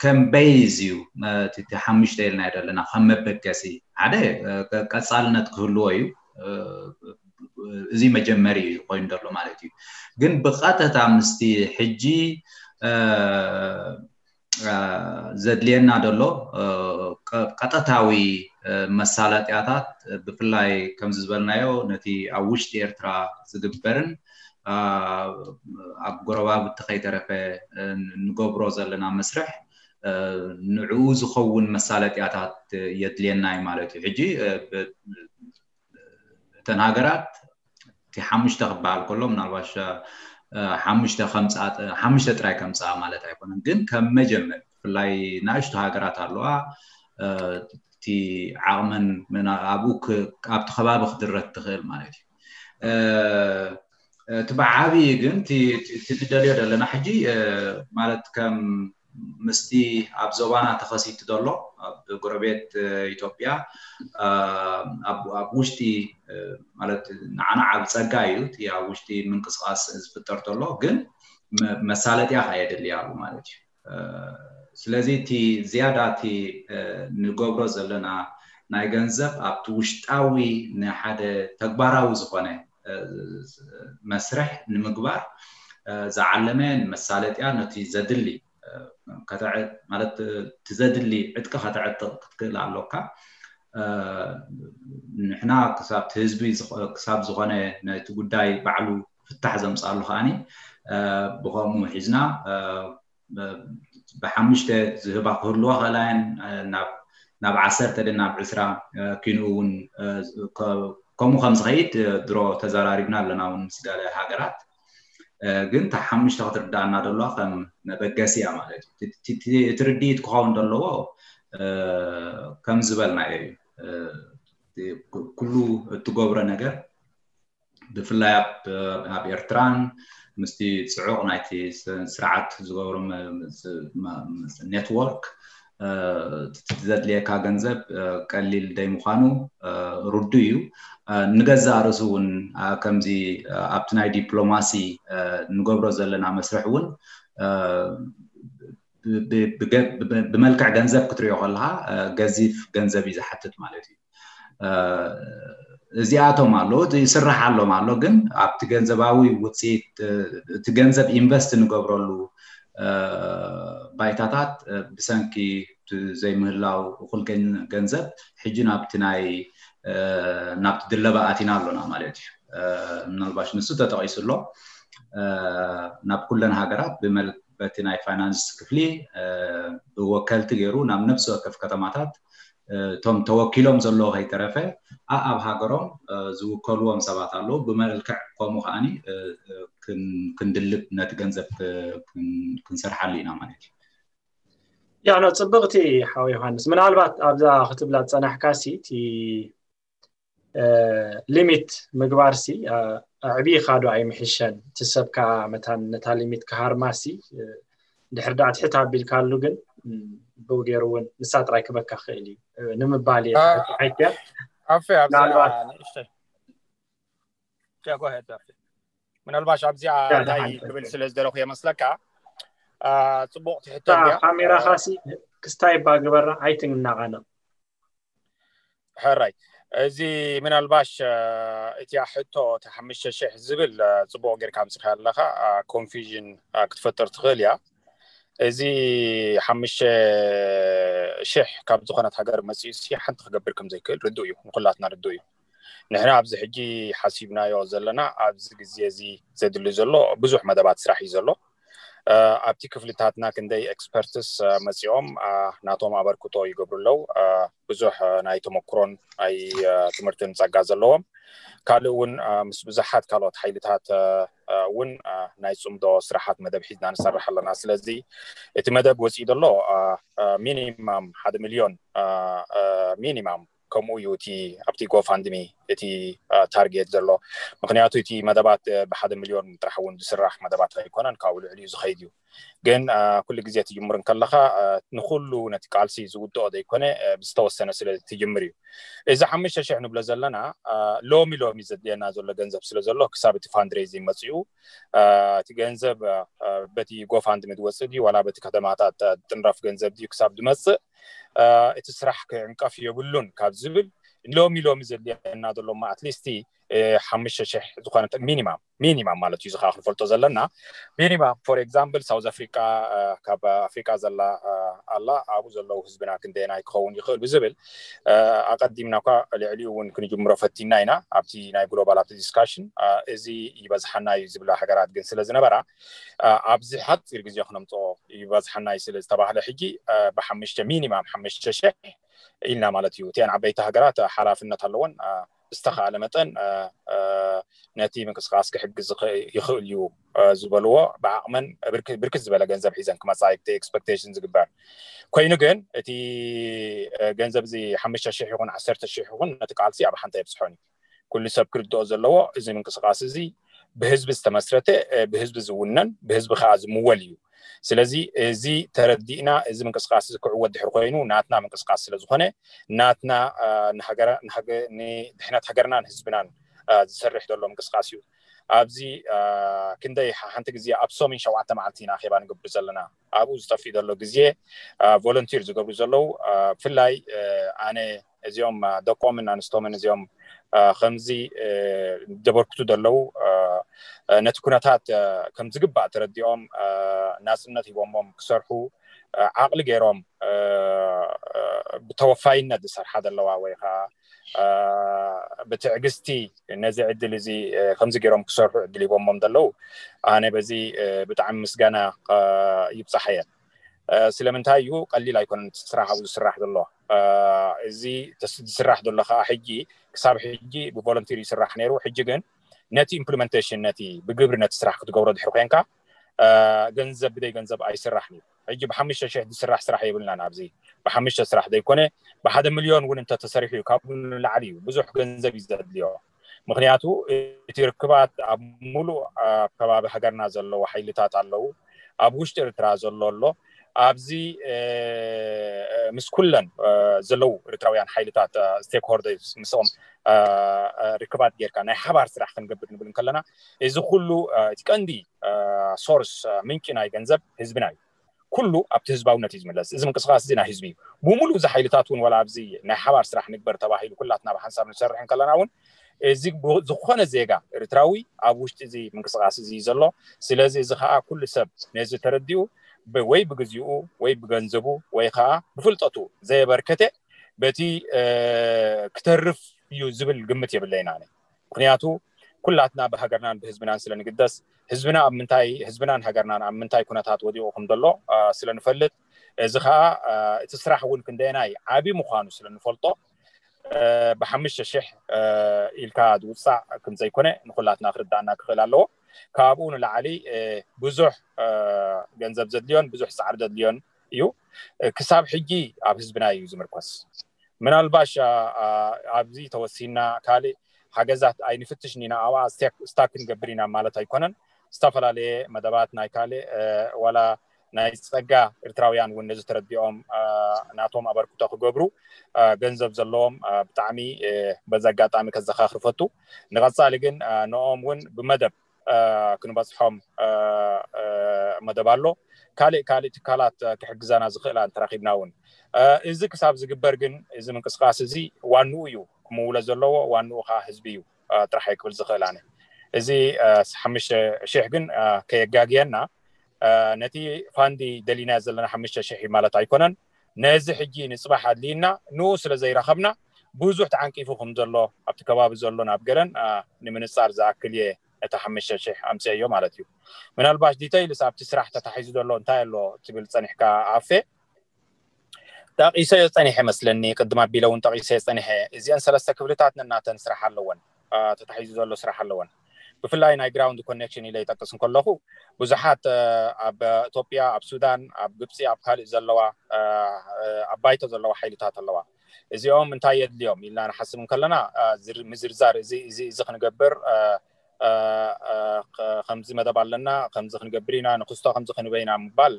ከም በይዝ እዩ እቲ ሓሙሽተ ኢልና ዘለና ከም መበገሲ ሓደ ቀፃልነት ክህልዎ እዩ። እዚ መጀመሪ እዩ ኮይኑ ዘሎ ማለት እዩ። ግን ብቐጥታ ምስቲ ሕጂ ዘድልየና ዘሎ ቀጥታዊ መሳለጥያታት ብፍላይ ከምዚ ዝበልናዮ ነቲ ኣብ ውሽጢ ኤርትራ ዝግበርን ኣብ ጎረባብቲ ከይተረፈ ንገብሮ ዘለና መስርሕ ንዕኡ ዝኸውን መሳለጥያታት የድልየና እዩ ማለት እዩ። ሕጂ እተን ሃገራት እቲ ሓሙሽተ ክበሃል ከሎ ምናልባሽ ሓሙሽተ ከምፅኣ ሓሙሽተ ጥራይ ከምፅኣ ማለት ኣይኮነን፣ ግን ከም መጀመር ብፍላይ ንእሽቶ ሃገራት ኣለዋ እቲ ዓቕመን ኣብኡ ኣብቲ ከባቢ ክድረት ትኽእል ማለት እዩ። እቲ ብዓብዪ ግን እቲ ንደልዮ ዘለና ሕጂ ማለት ከም ምስቲ ኣብ ዞባና ተኸሲቱ ዘሎ ኣብ ጎረቤት ኢትዮጵያ ኣብ ውሽጢ ማለት ንዓና ዓብ ፀጋ እዩ እቲ ኣብ ውሽጢ ምንቅስቃስ ዝፍጠር ተሎ ግን መሳለጥያ ከየድልያ ኣሎ ማለት እዩ። ስለዚ እቲ ዝያዳ እቲ ንገብሮ ዘለና ናይ ገንዘብ ኣብቲ ውሽጣዊ ንሓደ ተግባራዊ ዝኾነ መስርሕ ንምግባር ዝዓለመ መሳለጥያ ነቲ ዘድሊ ማለት እቲ ዘድሊ ዕጥቂ ከተዕጥቕ ክትክእል ኣሎካ። ንሕና ክሳብ ህዝቢ ክሳብ ዝኾነ ነቲ ጉዳይ ባዕሉ ፍታሕ ዘምፃሉ ከዓኒ ብኸምኡ ሒዝና ብሓሙሽተ ዝህባ ክህልዋ ክእላየን ናብ ዓሰርተ ደ ናብ ዕስራ ኪንኡ እውን ከምኡ ከም ዝኸይድ ድሮ ተዘራሪብና ኣለና እውን ምስ ገለ ሃገራት። ግን እታ ሓሙሽተ ክትርዳእና ደለዋ ከም መበገሲ እያ ማለት እዩ። እቲ ርድኢት ክኸውን ዘለዎ ከም ዝበልናዮ እዩ። ኩሉ እትገብሮ ነገር ብፍላይ ኣብ ኤርትራን ምስቲ ፅዑቕ ናይቲ ስርዓት ዝገብሮ ኔትወርክ ዘድልየካ ገንዘብ ቀሊል ደይ ምዃኑ ርዱ እዩ። ንገዛእ ርእሱ እውን ከምዚ ኣብቲ ናይ ዲፕሎማሲ ንገብሮ ዘለና መስርሕ እውን ብመልክዕ ገንዘብ ክትሪኦ ከለካ ገዚፍ ገንዘብ እዩ ዝሓትት ማለት እዩ። እዚኣቶም ኣሎ ይስራሕ ኣሎም ኣሎ ግን ኣብቲ ገንዘባዊ ውፅኢት እቲ ገንዘብ ኢንቨስት ንገብረሉ ባይታታት ብሰንኪ ዘይምህላው እኩል ገንዘብ ሕጂ ናብቲ ናይ ናብቲ ድለባ ኣቲና ኣሎና ማለት እዩ። ምናልባሽ ንሱ ተጠቂሱ ኣሎ ናብ ኩለን ሃገራት በቲ ናይ ፋይናንስ ክፍሊ ብወከልቲ ገይሩ ናብ ነፍሲ ወከፍ ከተማታት እቶም ተወኪሎም ዘለዉ ከይተረፈ ኣብ ሃገሮም ዝውከልዎም ሰባት ኣለዉ። ብመልክዕ ከምኡ ከዓኒ ክንድልብ ነቲ ገንዘብ ክንሰርሓሉ ኢና ማለት እዩ። ያኖ ጽብቕቲ ሓው ዮሃንስ፣ ምናልባት ኣብዛ ክትብላ ዝጸናሕካ ሲ እቲ ሊሚት ምግባር ሲ ኣዕቢኻ ዶ ኣይምሕሸን? እቲ ሰብ ከዓ መታን ነታ ሊሚት ክሃርማ ሲ ድሕር ዳኣ ትሕት ኣቢልካሉ ግን ብኡ ገይሩ እውን ንሳ ጥራይ ክበካ ክእል እዩ ንምባል እየ። ሓይትያ ኣፌ ኣብዛ ምናልባት ንእሽተይ ያ፣ go ahead ኣፌ። ምናልባሽ ኣብዚኣ ያ፣ እንታይ ደሓን። ክብል ስለ ዝደለኹ የመስለካ አ፣ ጽቡቕ ትሕቶ እታ እንድያ። ካሜራኻ ሲ ክስታይ እባ ግበራ ኣይትናቐነቕ። ሕራይ፣ እዚ ምናልባሽ አ፣ እቲያ ሕቶ እቲ ሓሙሽተ ሽሕ ዝብል አ፣ ጽቡቕ ጌርካ ኣምጽኻ ኣለኻ። አ፣ ኮንፊዥን አ፣ ክትፈጥር ትኽእል እያ። እዚ ሓሙሽተ ሽሕ ካብ ዝኾነት ሃገር መጺኡ ሲ ሓንቲ ክገብር ከም ዘይክእል ርዱእ እዩ፣ ንኹላትና ርዱእ እዩ። ንሕና ኣብዚ ሕጂ ሓሲብናዮ ዘለና ኣብዚ ግዜ እዚ ዘድሊ ዘሎ ብዙሕ መደባት ስራሕ እዩ ዘሎ። አ፣ ኣብቲ ክፍልታትና ክንደይ ኤክስፐርትስ አ፣ መጺኦም አ፣ ናቶም ኣበርክቶ ይገብሩ ኣለዉ። አ፣ ብዙሕ አ፣ ናይ ተመክሮን ናይ አ፣ ትምህርትን ጸጋ ዘለዎም ካልእ እውን አ፣ ምስ ብዙሓት ካልኦት ሓይልታት አ፣ አ፣ እውን አ፣ ናይ ጽምዶ ስራሓት መደብ ሒዝና ንሰርሕ ኣለና። ስለዚ እቲ መደብ ወጺኡ ዘሎ አ፣ አ፣ ሚኒማም ሓደ ሚልዮን አ፣ አ፣ ሚኒማም ከምኡ እዩ እቲ ኣብቲ ጎፋንድሚ እቲ አ፣ ታርጌት ዘሎ። ምክንያቱ እቲ መደባት አ፣ ብሓደ ሚልዮን ጥራሕ እውን ዝስራሕ መደባት ኣይኮነን፣ ካብኡ ልዕሊ እዩ ዝኸይድ እዩ። ግን አ፣ ኩሉ ግዜ ትጅምር እንከለኻ አ፣ ንኩሉ ነቲ ቃልሲ ዝውድኦ ዘይኮነ አ፣ ብዝተወሰነ ስለ ትጅምር እዩ። እዚ ሓሙሽተ ሽሕ ንብሎ ዘለና አ፣ ሎሚ ሎሚ ዘድልየና ዘሎ ገንዘብ ስለ ዘሎ ክሳብ እቲ ፋንድሬዚንግ መፅኡ አ፣ እቲ ገንዘብ አ፣ አ፣ በቲ ጎፋንድሚ ዝወፅእ ድዩ ዋላ በቲ ከተማታት አ፣ ዝጥንረፍ ገንዘብ ድዩ ክሳብ ዝመፅእ አ፣ እቲ ስራሕ ክዕንቀፍ የብሉን ካብ ዝብል ሎሚ ሎሚ ዘድልየና ዘሎ ኣትሊስቲ ሓሙሽተ ሽሕ ዝኾነ ሚኒማም ሚኒማም ማለት እዩ። እዚ ከዓ ክንፈልጦ ዘለና ሚኒማም ፎር ኤግዛምፕል ሳውዝ ኣፍሪቃ አ፣ ካብ ኣፍሪቃ ዘላ አ፣ ኣላ ኣብኡ ዘለዉ ህዝብና ክንደየናይ ክኸውን ይኽእል ብዝብል አ፣ ኣቐዲምና እኳ ልዕሊኡ እውን ክንጅምሮ ፈቲና ኢና ኣብቲ ናይ ግሎባል ኣብቲ ዲስካሽን አ፣ እዚ ይበዝሓና እዩ ዝብላ ሃገራት ግን ስለ ዝነበራ አ፣ ኣብዚ ሓፂር ግዜ ክነምፅኦ ይበዝሓና እዩ ስለ ዝተባህለ ሕጂ አ፣ ብሓሙሽተ ሚኒማም ሓሙሽተ ሽሕ ኢልና ማለት እዩ። እቲአን ዓበይቲ ሃገራት ሓላፍነት ኣለወን አ፣ ብዝተኻእለ መጠን አ፣ አ፣ ነቲ ምንቅስቃስ ክሕግዝ ዝኸ- ይኽእል እዩ አ፣ ዝበልዎ ብዓቕመን ብርክ- ብርክት ዝበለ ገንዘብ ሒዘን ክመፃ እቲ ኤክስፐክቴሽን ዝግበር ኮይኑ ግን እቲ አ፣ ገንዘብ እዚ ሓሙሽተ ሽሕ ይኹን ዓሰርተ ሽሕ ይኹን ነቲ ቃልሲ ኣብ ሓንቲ የብፅሖን እዩ። ኩሉ ሰብ ክርድኦ ዘለዎ እዚ ምንቅስቃስ እዚ ብህዝቢ ዝተመስረተ አ፣ ብህዝቢ ዝውነን ብህዝቢ ከዓ ዝምወል እዩ። ስለዚ እዚ ተረዲእና እዚ ምንቅስቃስ እዚ ክዕወት ድሕር ኮይኑ ናትና ምንቅስቃስ ስለ ዝኾነ ናትና አ፣ ንሃገረ- ንሃገ- ንድሕነት ሃገርናን ህዝብናን አ፣ ዝሰርሕ ዘሎ ምንቅስቃስ እዩ። ኣብዚ አ፣ ክንደይ ሓ- ሓንቲ ግዜ ኣብ ሰሙን ሸውዓተ መዓልቲ ኢና ኣኼባ ንገብር ዘለና። ኣብኡ ዝጠፍእ ዘሎ ግዜ አ፣ ቮለንቲር ዝገብሩ ዘለዉ አ፣ ብፍላይ አ፣ ኣነ እዚኦም አ፣ ደቆምን ኣንስቶምን እዚኦም ከምዚ ዘበርክቱ ዘለዉ ነቲ ኩነታት ከም ዝግባእ ተረዲኦም ናፅነት ሂቦሞም ክሰርሑ ዓቕሊ ገይሮም ብተወፋይነት ዝሰርሓ ዘለዋ ወይ ከዓ ብትዕግስቲ ነዚ ዕድል እዚ ከምዚ ገይሮም ክሰርሑ ዕድል ሂቦሞም ዘለዉ ኣነ በዚ ብጣዕሚ ምስጋና ይብፃሓየ። ስለምንታይ እዩ ቀሊል ኣይኮነን እቲ ስራሕ ኣብኡ ዝስራሕ ዘሎ። እዚ ዝስራሕ ዘሎ ከዓ ሕጂ ክሳብ ሕጂ ብቮለንቲር ይስራሕ ነይሩ። ሕጂ ግን ነቲ ኢምፕሊመንቴሽን ነቲ ብግብሪ ነቲ ስራሕ ክትገብሮ ድሕሪ ኮንካ ገንዘብ ብደይ ገንዘብ ኣይስራሕን እዩ። ሕጂ ብሓሙሽተ ሽሕ ዝስራሕ ስራሕ የብልናን ኣብዚ ብሓሙሽተ ስራሕ ዘይኮነ ብሓደ ሚልዮን እውን እንተተሰሪሑ እዩ ካብኡ ንላዕሊ እዩ ብዙሕ ገንዘብ እዩ ዘድልዮ። ምክንያቱ እቲ ርክባት ኣብ ሙሉእ ኣብ ከባቢ ሃገርና ዘለዉ ሓይልታት ኣለዉ። ኣብ ውሽጢ ኤርትራ ዘሎ ኣሎ። ኣብዚ ምስ ኩለን ዘለዉ ኤርትራውያን ሓይልታት ስቴክሆልደርስ ምስኦም ርክባት ጌርካ ናይ ሓባር ስራሕ ክንገብር ንብል እንከለና እዚ ኩሉ እቲ ቀንዲ ሶርስ ምንጪ ናይ ገንዘብ ህዝብና እዩ። ኩሉ ኣብቲ ህዝባውነት እዩ ዝምለስ። እዚ ምንቅስቃስ እዚ ናይ ህዝቢ እዩ። ብሙሉእ እዚ ሓይልታት እውን ዋላ ኣብዚ ናይ ሓባር ስራሕ ንግበር ተባሂሉ ኩላትና ብሓንሳብ ንሰርሕ እንከለና እውን እዚ ዝኾነ ዜጋ ኤርትራዊ ኣብ ውሽጢ እዚ ምንቅስቃስ እዚ ዘሎ። ስለዚ እዚ ከዓ ኩሉ ሰብ ነዚ ተረዲኡ ወይ ብግዚኡ ወይ ብገንዘቡ ወይ ከዓ ብፍልጠቱ ዘየበርከተ በቲ ክተርፍ እዩ ዝብል ግምት የብለይን ኣነ። ምክንያቱ ኩላትና ብሃገርናን ብህዝብናን ስለ ንግደስ ህዝብና ኣብ ምንታይ ህዝብናን ሃገርናን ኣብ ምንታይ ኩነታት ወዲቑ ከም ዘሎ ስለ ንፈልጥ እዚ ከዓ እቲ ስራሕ እውን ክንደየናይ ዓብዪ ምዃኑ ስለ ንፈልጦ ብሓሙሽተ ሽሕ ኢልካ ዝውፃእ ከም ዘይኮነ ንኩላትና ክርዳእና ክኽእል ኣለዎ። ካብኡ ንላዕሊ ብዙሕ ገንዘብ ዘድልዮን ብዙሕ ፃዕሪ ዘድልዮን እዩ። ክሳብ ሕጂ ኣብ ህዝብና እዩ ዝምርኮስ። ምናልባሽ ኣብዚ ተወሲና ካልእ ሓገዛት ኣይንፍትሽን ኢና ኣብኣ ስታክ ክንገብር ኢና ማለት ኣይኮነን። ዝተፈላለየ መደባት ናይ ካልእ ዋላ ናይ ፀጋ ኤርትራውያን እውን ነዚ ተረዲኦም ናቶም ኣበርክቶ ክገብሩ ገንዘብ ዘለዎም ብጣዕሚ በዚ ኣጋጣሚ ከዘኻኽር ፈቱ። ንቐፃሊ ግን ንኦም እውን ብመደብ ክንበፅሖም መደብ ኣሎ። ካልእ ካልእ ትካላት ክሕግዘና ዝኽእላ እንተረኺብና እውን እዚ ክሳብ ዝግበር ግን እዚ ምንቅስቃስ እዚ ዋንኡ እዩ ክምውለ ዘለዎ። ዋንኡ ከዓ ህዝቢ እዩ ጥራሕ ክብል ዝኽእል ኣነ። እዚ ሓሙሽተ ሽሕ ግን ከየጋግየና ነቲ ፋንዲ ደሊና ዘለና ሓሙሽተ ሽሕ ማለት ኣይኮነን። ነዚ ሕጂ ንፅባሕ ኣድልይና ንኡ ስለ ዘይረኸብና ብዙሕ ተዓንቂፉ ከም ዘሎ ኣብቲ ከባቢ ዘሎ ናብ ገለን ንምንፃር ዝኣክል እየ ነቲ ሓሙሽተ ሽሕ ኣምፅአዮ ማለት እዩ። ምናልባሽ ዲተይልስ ኣብቲ ስራሕ ተታሒዙ ዘሎ እንታይ ኣሎ ትብል ፀኒሕካ ኣፌ? ጠቒሰዮ ፀኒሐ መስለኒ ቅድም ኣቢለ እውን ጠቒሰዮ ፀኒሐ። እዚአን ሰለስተ ክፍልታት ነናተን ስራሕ ኣለወን፣ ተታሒዙ ዘሎ ስራሕ ኣለወን። ብፍላይ ናይ ግራውንድ ኮኔክሽን ኢለ ይጠቅስ እንከለኹ ብዙሓት ኣብ ኢትዮጵያ፣ ኣብ ሱዳን፣ ኣብ ግብፂ፣ ኣብ ካልእ ዘለዋ ኣብ ባይቶ ዘለዋ ሓይልታት ኣለዋ። እዚኦም እንታይ የድልዮም ኢልና ንሓስብ እንከለና ምዝርዛር እዚ እዚ እዚ ክንገብር ከምዚ መደብ ኣለና፣ ከምዚ ክንገብር ኢና፣ ንክስቶ ከምዚ ክንበይና ምባል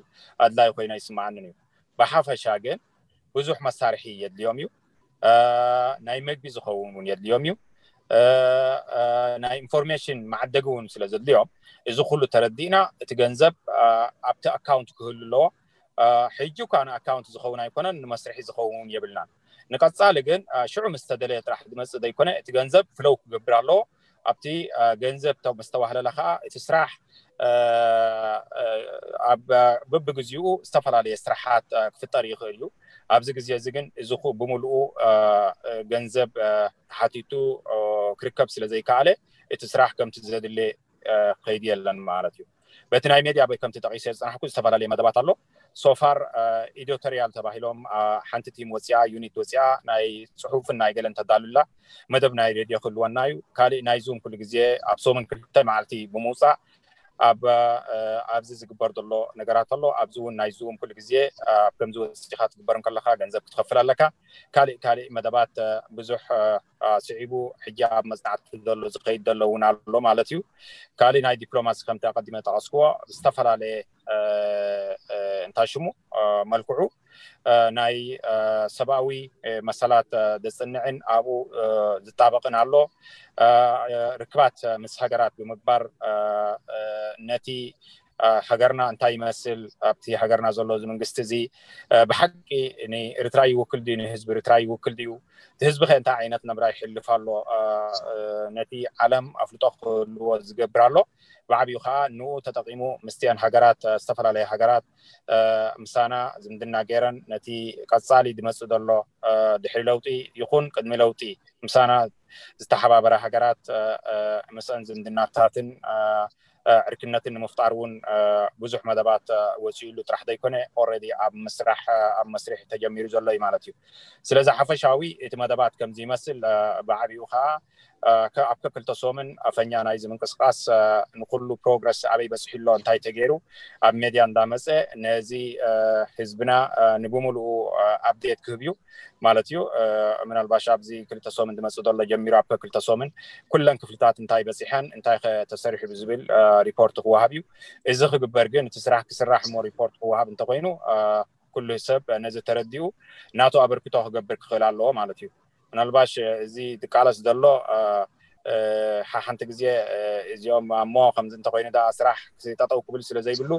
ኣድላይ ኮይኖ ይስምዓንን እዩ። ብሓፈሻ ግን ብዙሕ መሳርሒ የድልዮም እዩ። ናይ መግቢ ዝኸውን እውን የድልዮም እዩ። ናይ ኢንፎርሜሽን መዓደጊ እውን ስለ ዘድልዮም እዚ ኩሉ ተረዲእና እቲ ገንዘብ ኣብቲ ኣካውንት ክህሉ ኣለዎ። ሕጂ እኳ ንኣካውንት ዝኸውን ኣይኮነን፣ ንመስርሒ ዝኸውን እውን የብልናን። ንቀፃሊ ግን ሽዑ ምስ ተደለየ ጥራሕ ዝመፅእ ዘይኮነ እቲ ገንዘብ ፍለው ክገብር ኣለዎ። ኣብቲ ገንዘብ ምስ ተዋህለለ ከዓ እቲ ስራሕ ኣብ በብግዚኡ ዝተፈላለየ ስራሓት ክፍጠር ይኽእል እዩ። ኣብዚ ግዜ እዚ ግን እዚ ብምልኡ ገንዘብ ተሓቲቱ ክርከብ ስለ ዘይከኣለ እቲ ስራሕ ከምቲ ዘድለ ከይዲ የለን ማለት እዩ። በቲ ናይ ሜድያ በይ ከምቲ ጠቂሰ ዝፀናሕኩ ዝተፈላለየ መደባት ኣሎ። ሶፋር ኤዲቶሪያል ተባሂሎም ሓንቲ ቲም ወፅያ፣ ዩኒት ወፅያ፣ ናይ ፅሑፍን ናይ ገለን ተዳሉላ። መደብ ናይ ሬድዮ ክህልወና እዩ። ካሊእ ናይ ዙም ኩሉ ግዜ ኣብ ሰሙን ክልተ መዓልቲ ብምውፃእ ኣብ ኣብዚ ዝግበር ዘሎ ነገራት ኣሎ። ኣብዚ እውን ናይ ዙም ኩሉ ግዜ ኣብ ከምዚ ወፂኻ ትግበር እንከለካ ገንዘብ ክትኸፍል ኣለካ። ካሊእ ካሊእ መደባት ብዙሕ ስዒቡ ሕጂ ኣብ መፅናዕቲ ዘሎ ዝኸይድ ዘሎ እውን ኣሎ ማለት እዩ። ካሊእ ናይ ዲፕሎማሲ ከምቲ ኣቀዲመ ጠቀስክዎ ዝተፈላለየ እንታይ ሽሙ መልክዑ ናይ ሰብኣዊ መሰላት ዘፅንዕን ኣብኡ ዝጣበቅን ኣሎ። ርክባት ምስ ሃገራት ብምግባር ነቲ ሃገርና እንታይ ይመስል፣ ኣብቲ ሃገርና ዘሎ እዚ መንግስቲ እዚ ብሓቂ ንኤርትራ ይውክል ድዩ፣ ንህዝቢ ኤርትራ ይውክል ድዩ፣ እቲ ህዝቢ ከ እንታይ ዓይነት ነብራ ይሕልፍ ኣሎ፣ ነቲ ዓለም ኣፍልጦ ክህልዎ ዝገብር ኣሎ። ብዓብዩ ከዓ ንኡ ተጠቂሙ ምስቲኣን ሃገራት፣ ዝተፈላለየ ሃገራት ምሳና ዝምድና ገይረን ነቲ ቀፃሊ ዝመፅእ ዘሎ ድሕሪ ለውጢ ይኹን ቅድሚ ለውጢ ምሳና ዝተሓባበረ ሃገራት ምስአን ዝምድናታትን ዕርክነትን ንምፍጣር እውን ብዙሕ መደባት ወፂኡሉ ጥራሕ ዘይኮነ፣ ኦረዲ ኣብ ምስራሕ ኣብ መስሪሕ ተጀሚሩ ዘሎ እዩ ማለት እዩ። ስለዚ ሓፈሻዊ እቲ መደባት ከምዚ ይመስል። ብዓብኡ ከዓ ኣብ ከክልተ ሶምን ኣፈኛ ናይዚ ምንቅስቃስ ንኩሉ ፕሮግረስ ኣበይ በፅሑ ኣሎ እንታይ ተገይሩ ኣብ ሜድያ እንዳመፀ ነዚ ህዝብና ንብምሉኡ ኣፕዴት ክህብ እዩ ማለት እዩ። ምናልባሽ ኣብዚ ክልተ ሶምን ዝመፅእ ዘሎ ጀሚሩ ኣብ ከክልተ ሶምን ኩለን ክፍልታት እንታይ በፂሐን እንታይ ተሰሪሑ ብዝብል ሪፖርት ክወሃብ እዩ። እዚ ክግበር ግን እቲ ስራሕ ክስራሕ እሞ ሪፖርት ክወሃብ እንተኮይኑ ኩሉ ሰብ ነዚ ተረዲኡ ናቱ ኣበርክቶ ክገብር ክኽእል ኣለዎ ማለት እዩ። ምናልባሽ እዚ ዝቃለስ ዘሎ ሓሓንቲ ግዜ እዚኦም ኣሞ ከምዚ እንተኮይኑ ዳ ስራሕ ጠጠው ክብል ስለ ዘይብሉ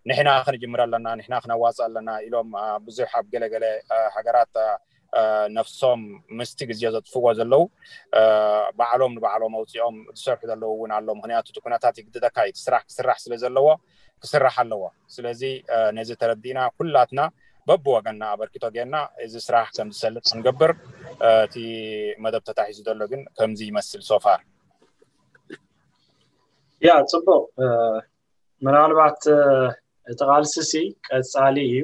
ንሕና ክንጅምር ኣለና፣ ንሕና ክነዋፅእ ኣለና ኢሎም ብዙሕ ኣብ ገለገለ ሃገራት ነፍሶም ምስቲ ግዜ ዘጥፍዎ ዘለዉ ባዕሎም ንባዕሎም ኣውፂኦም ዝሰርሑ ዘለዉ እውን ኣሎ። ምክንያቱ እቲ ኩነታት ይግድደካ እዩ፣ ስራሕ ክስራሕ ስለ ዘለዎ ክስራሕ ኣለዎ። ስለዚ ነዚ ተረዲእና ኩላትና በብወገንና ኣበርክቶ ጌርና እዚ ስራሕ ከም ዝሰልጥ ክንገብር እቲ መደብ ተታሒዙ ዘሎ ግን ከምዚ ይመስል ሶፋር። ያ ፅቡቅ። ምናልባት እቲ ቃልሲ ሲ ቀፃሊ እዩ።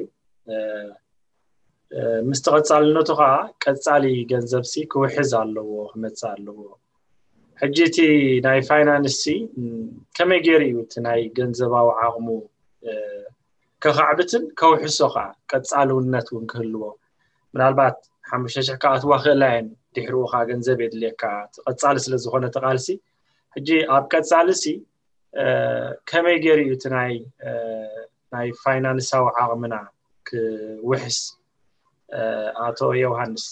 ምስቲ ቀፃልነቱ ከዓ ቀፃሊ ገንዘብ ሲ ክውሕዝ ኣለዎ፣ ክመፅእ ኣለዎ። ሕጂ እቲ ናይ ፋይናንስ ሲ ከመይ ገይሩ እዩ እቲ ናይ ገንዘባዊ ዓቕሙ ከካዕብትን ከውሕሶ ከዓ ቀፃልውነት እውን ክህልዎ? ምናልባት ሓሙሽተ ሽሕ ክኣትዋ ክእላ እየን፣ ድሕሪኡ ከዓ ገንዘብ የድልየካ፣ እቲ ቀፃሊ ስለ ዝኾነ እቲ ቃልሲ። ሕጂ ኣብ ቀፃሊ ሲ ከመይ ገይሩ እዩ እቲ ናይ ናይ ፋይናንሳዊ ዓቕምና ክውሕስ? ኣቶ ዮሃንስ።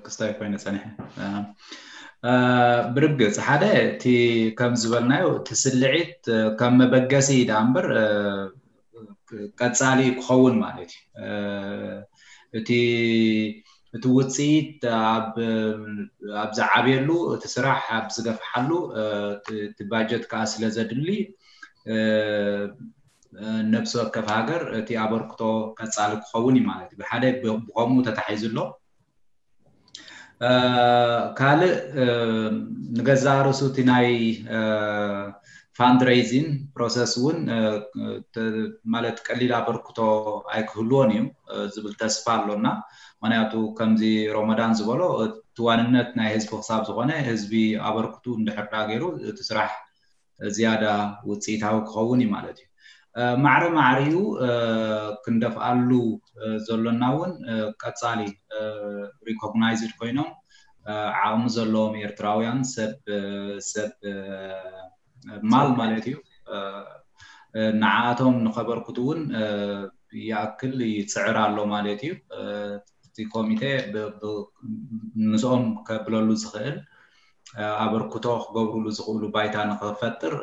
ክስታይ ኮይነ ፀኒሐ። ብርግፅ ሓደ እቲ ከም ዝበልናዮ እቲ ስልዒት ከም መበገሲ ዳ እምበር ቀፃሊ ክኸውን ማለት እዩ። እቲ እቲ ውፅኢት ኣብ ዝዓብየሉ፣ እቲ ስራሕ ኣብ ዝገፍሓሉ እቲ ባጀት ከዓ ስለ ዘድሊ ነብሲ ወከፍ ሃገር እቲ ኣበርክቶ ቀፃሊ ክኸውን እዩ ማለት እዩ። ብሓደ ብከምኡ ተታሒዙ ኣሎ። ካልእ ንገዛእ ርእሱ እቲ ናይ ፋንድሬይዚን ፕሮሰስ እውን ማለት ቀሊል ኣበርክቶ ኣይክህልዎን እዩ ዝብል ተስፋ ኣሎና። ምክንያቱ ከምዚ ሮመዳን ዝበሎ እቲ ዋንነት ናይ ህዝቢ ክሳብ ዝኾነ ህዝቢ ኣበርክቱ እንድሕር ዳ ገይሩ እቲ ስራሕ ዝያዳ ውፅኢታዊ ክኸውን እዩ ማለት እዩ። ማዕረ ማዕሪኡ ክንደፍኣሉ ዘሎና እውን ቀፃሊ ሪኮግናይዝድ ኮይኖም ዓቕሚ ዘለዎም ኤርትራውያን ሰብ ሰብ ማል ማለት እዩ ንዓኣቶም ንኸበርክቱ እውን ይኣክል ይፅዕር ኣሎ ማለት እዩ። እቲ ኮሚቴ ምስኦም ከብለሉ ዝኽእል ኣበርክቶ ክገብሩሉ ዝኽእሉ ባይታ ንኽፈጥር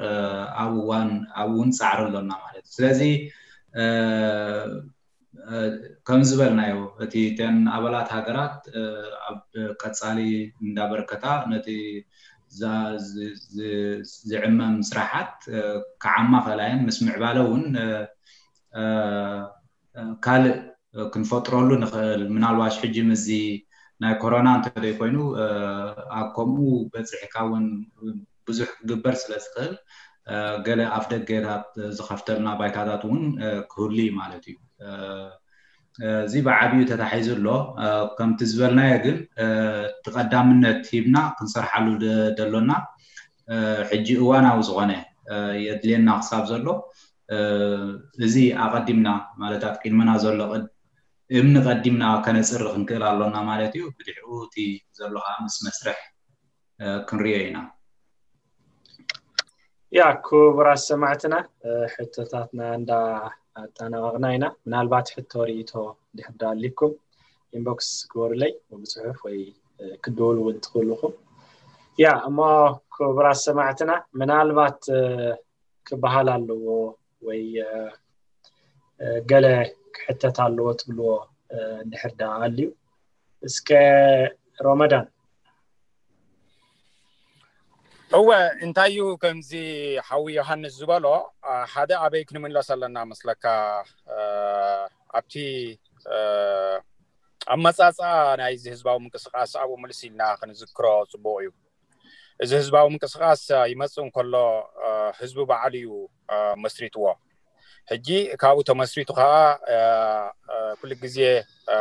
ኣብ እዋን ኣብኡ እውን ፃዕሪ ኣሎና ማለት እዩ። ስለዚ ከም ዝበልናዮ እቲ ተን ኣባላት ሃገራት ኣብ ቀፃሊ እንዳበርከታ ነቲ ዝዕመም ስራሓት ክዓማ ክእላ እየን። ምስ ምዕባለ እውን ካልእ ክንፈጥረሉ ንኽእል ምናልባሽ ሕጂ ምዚ ናይ ኮሮና እንተደይ ኮይኑ ኣብ ከምኡ በፂሕካ እውን ብዙሕ ክግበር ስለ ዝኽእል ገለ ኣፍ ደገታት ዝኸፍተልና ባይታታት እውን ክህሉ እዩ ማለት እዩ። እዚ ብዓብዩ ተታሒዙ ኣሎ። ከምቲ ዝበልናዮ ግን እቲ ቀዳምነት ሂብና ክንሰርሓሉ ደሎና ሕጂ እዋናዊ ዝኾነ የድልየና ክሳብ ዘሎ እዚ ኣቐዲምና ማለት ኣብ ቅድመና ዘሎ እምኒ ቀዲምና ከነፅሪ ክንክእል ኣሎና ማለት እዩ። ብድሕሩ እቲ ዘሎ ከዓ ምስ መስርሕ ክንሪኦ ኢና። ያ ክቡራት ሰማዕትና ሕቶታትና እንዳ ኣጠናቐቕና ኢና። ምናልባት ሕቶ ርእቶ ድሕር ዳሊኩም ኢንቦክስ ግበሩለይ ብፅሑፍ ወይ ክደውሉ እውን ትኽእሉ ኢኹም። ያ እሞ ክቡራት ሰማዕትና፣ ምናልባት ክበሃል ኣለዎ ወይ ገለ ክሕተት ኣለዎ ትብልዎ እንድሕር ደኣ ኣልዩ፣ እስከ ሮመዳን። እወ፣ እንታይ እዩ ከምዚ ሓዊ ዮሃንስ ዝበሎ፣ ሓደ ኣበይ ክንምለስ ኣለና መስለካ? ኣብቲ ኣመፃፃ ናይዚ ህዝባዊ ምንቅስቃስ ኣብኡ ምልስ ኢልና ክንዝክሮ ፅቡቅ እዩ። እዚ ህዝባዊ ምንቅስቃስ ይመፅእ እንከሎ ህዝቢ ባዕሉ እዩ መስሪትዎ። ሕጂ ካብኡ ተመስሪቱ ከዓ ኩሉ ግዜ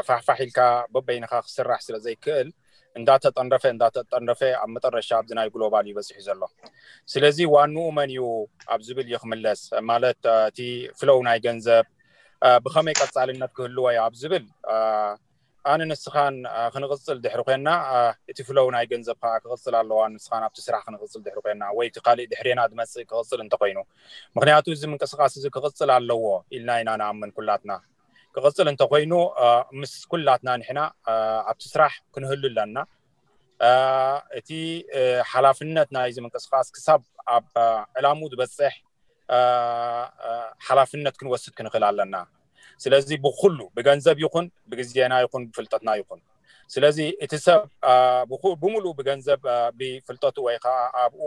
ፋሕፋሕ ኢልካ በበይንካ ክስራሕ ስለ ዘይክእል እንዳተጠንረፈ እንዳተጠንረፈ ኣብ መጠረሻ ኣብዚ ናይ ግሎባል እዩ በፂሑ ዘሎ። ስለዚ ዋንኡ መን እዩ ኣብ ዝብል እዩ ክምለስ። ማለት እቲ ፍለው ናይ ገንዘብ ብኸመይ ቀፃልነት ክህልዎ እዩ ኣብ ዝብል ኣነ ንስኻን ክንቕፅል ድሕሪ ኮይና እቲ ፍለው ናይ ገንዘብ ከዓ ክቕፅል ኣለዋ። ንስኻን ኣብቲ ስራሕ ክንቕፅል ድሕሪ ኮይና ወይ እቲ ካሊእ ድሕሬና ዝመፅእ ክቕፅል እንተኮይኑ፣ ምክንያቱ እዚ ምንቅስቃስ እዚ ክቕፅል ኣለዎ ኢልና ኢና ንኣምን ኩላትና። ክቕፅል እንተኮይኑ ምስ ኩላትና ንሕና ኣብቲ ስራሕ ክንህሉ ኣለና። እቲ ሓላፍነት ናይዚ ምንቅስቃስ ክሳብ ኣብ ዕላሙ ዝበፅሕ ሓላፍነት ክንወስድ ክንኽእል ኣለና። ስለዚ ብኩሉ ብገንዘብ ይኹን ብግዜና ይኹን ብፍልጠትና ይኹን፣ ስለዚ እቲ ሰብ ብምሉእ ብገንዘብ ብፍልጠቱ ወይ ከዓ ኣብኡ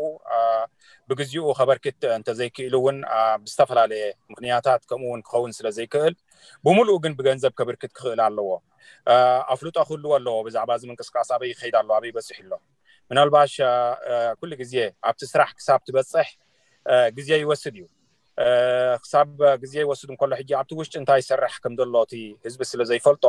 ብግዚኡ ከበርክት እንተዘይክእል እውን ብዝተፈላለየ ምክንያታት ከምኡ እውን ክኸውን ስለ ዘይክእል ብምሉእ ግን ብገንዘብ ከበርክት ክኽእል ኣለዎ። ኣፍልጦ ክህልዎ ኣለዎ ብዛዕባ እዚ ምንቅስቃስ ኣበይ ይኸይድ ኣሎ፣ ኣበይ በፂሑ ኣሎ። ምናልባሽ ኩሉ ግዜ ኣብቲ ስራሕ ክሳብ ትበፅሕ ግዜ ይወስድ እዩ። ክሳብ ግዜ ይወስድ እንከሎ ሕጂ ኣብቲ ውሽጢ እንታይ ይሰርሕ ከም ዘሎ እቲ ህዝቢ ስለ ዘይፈልጦ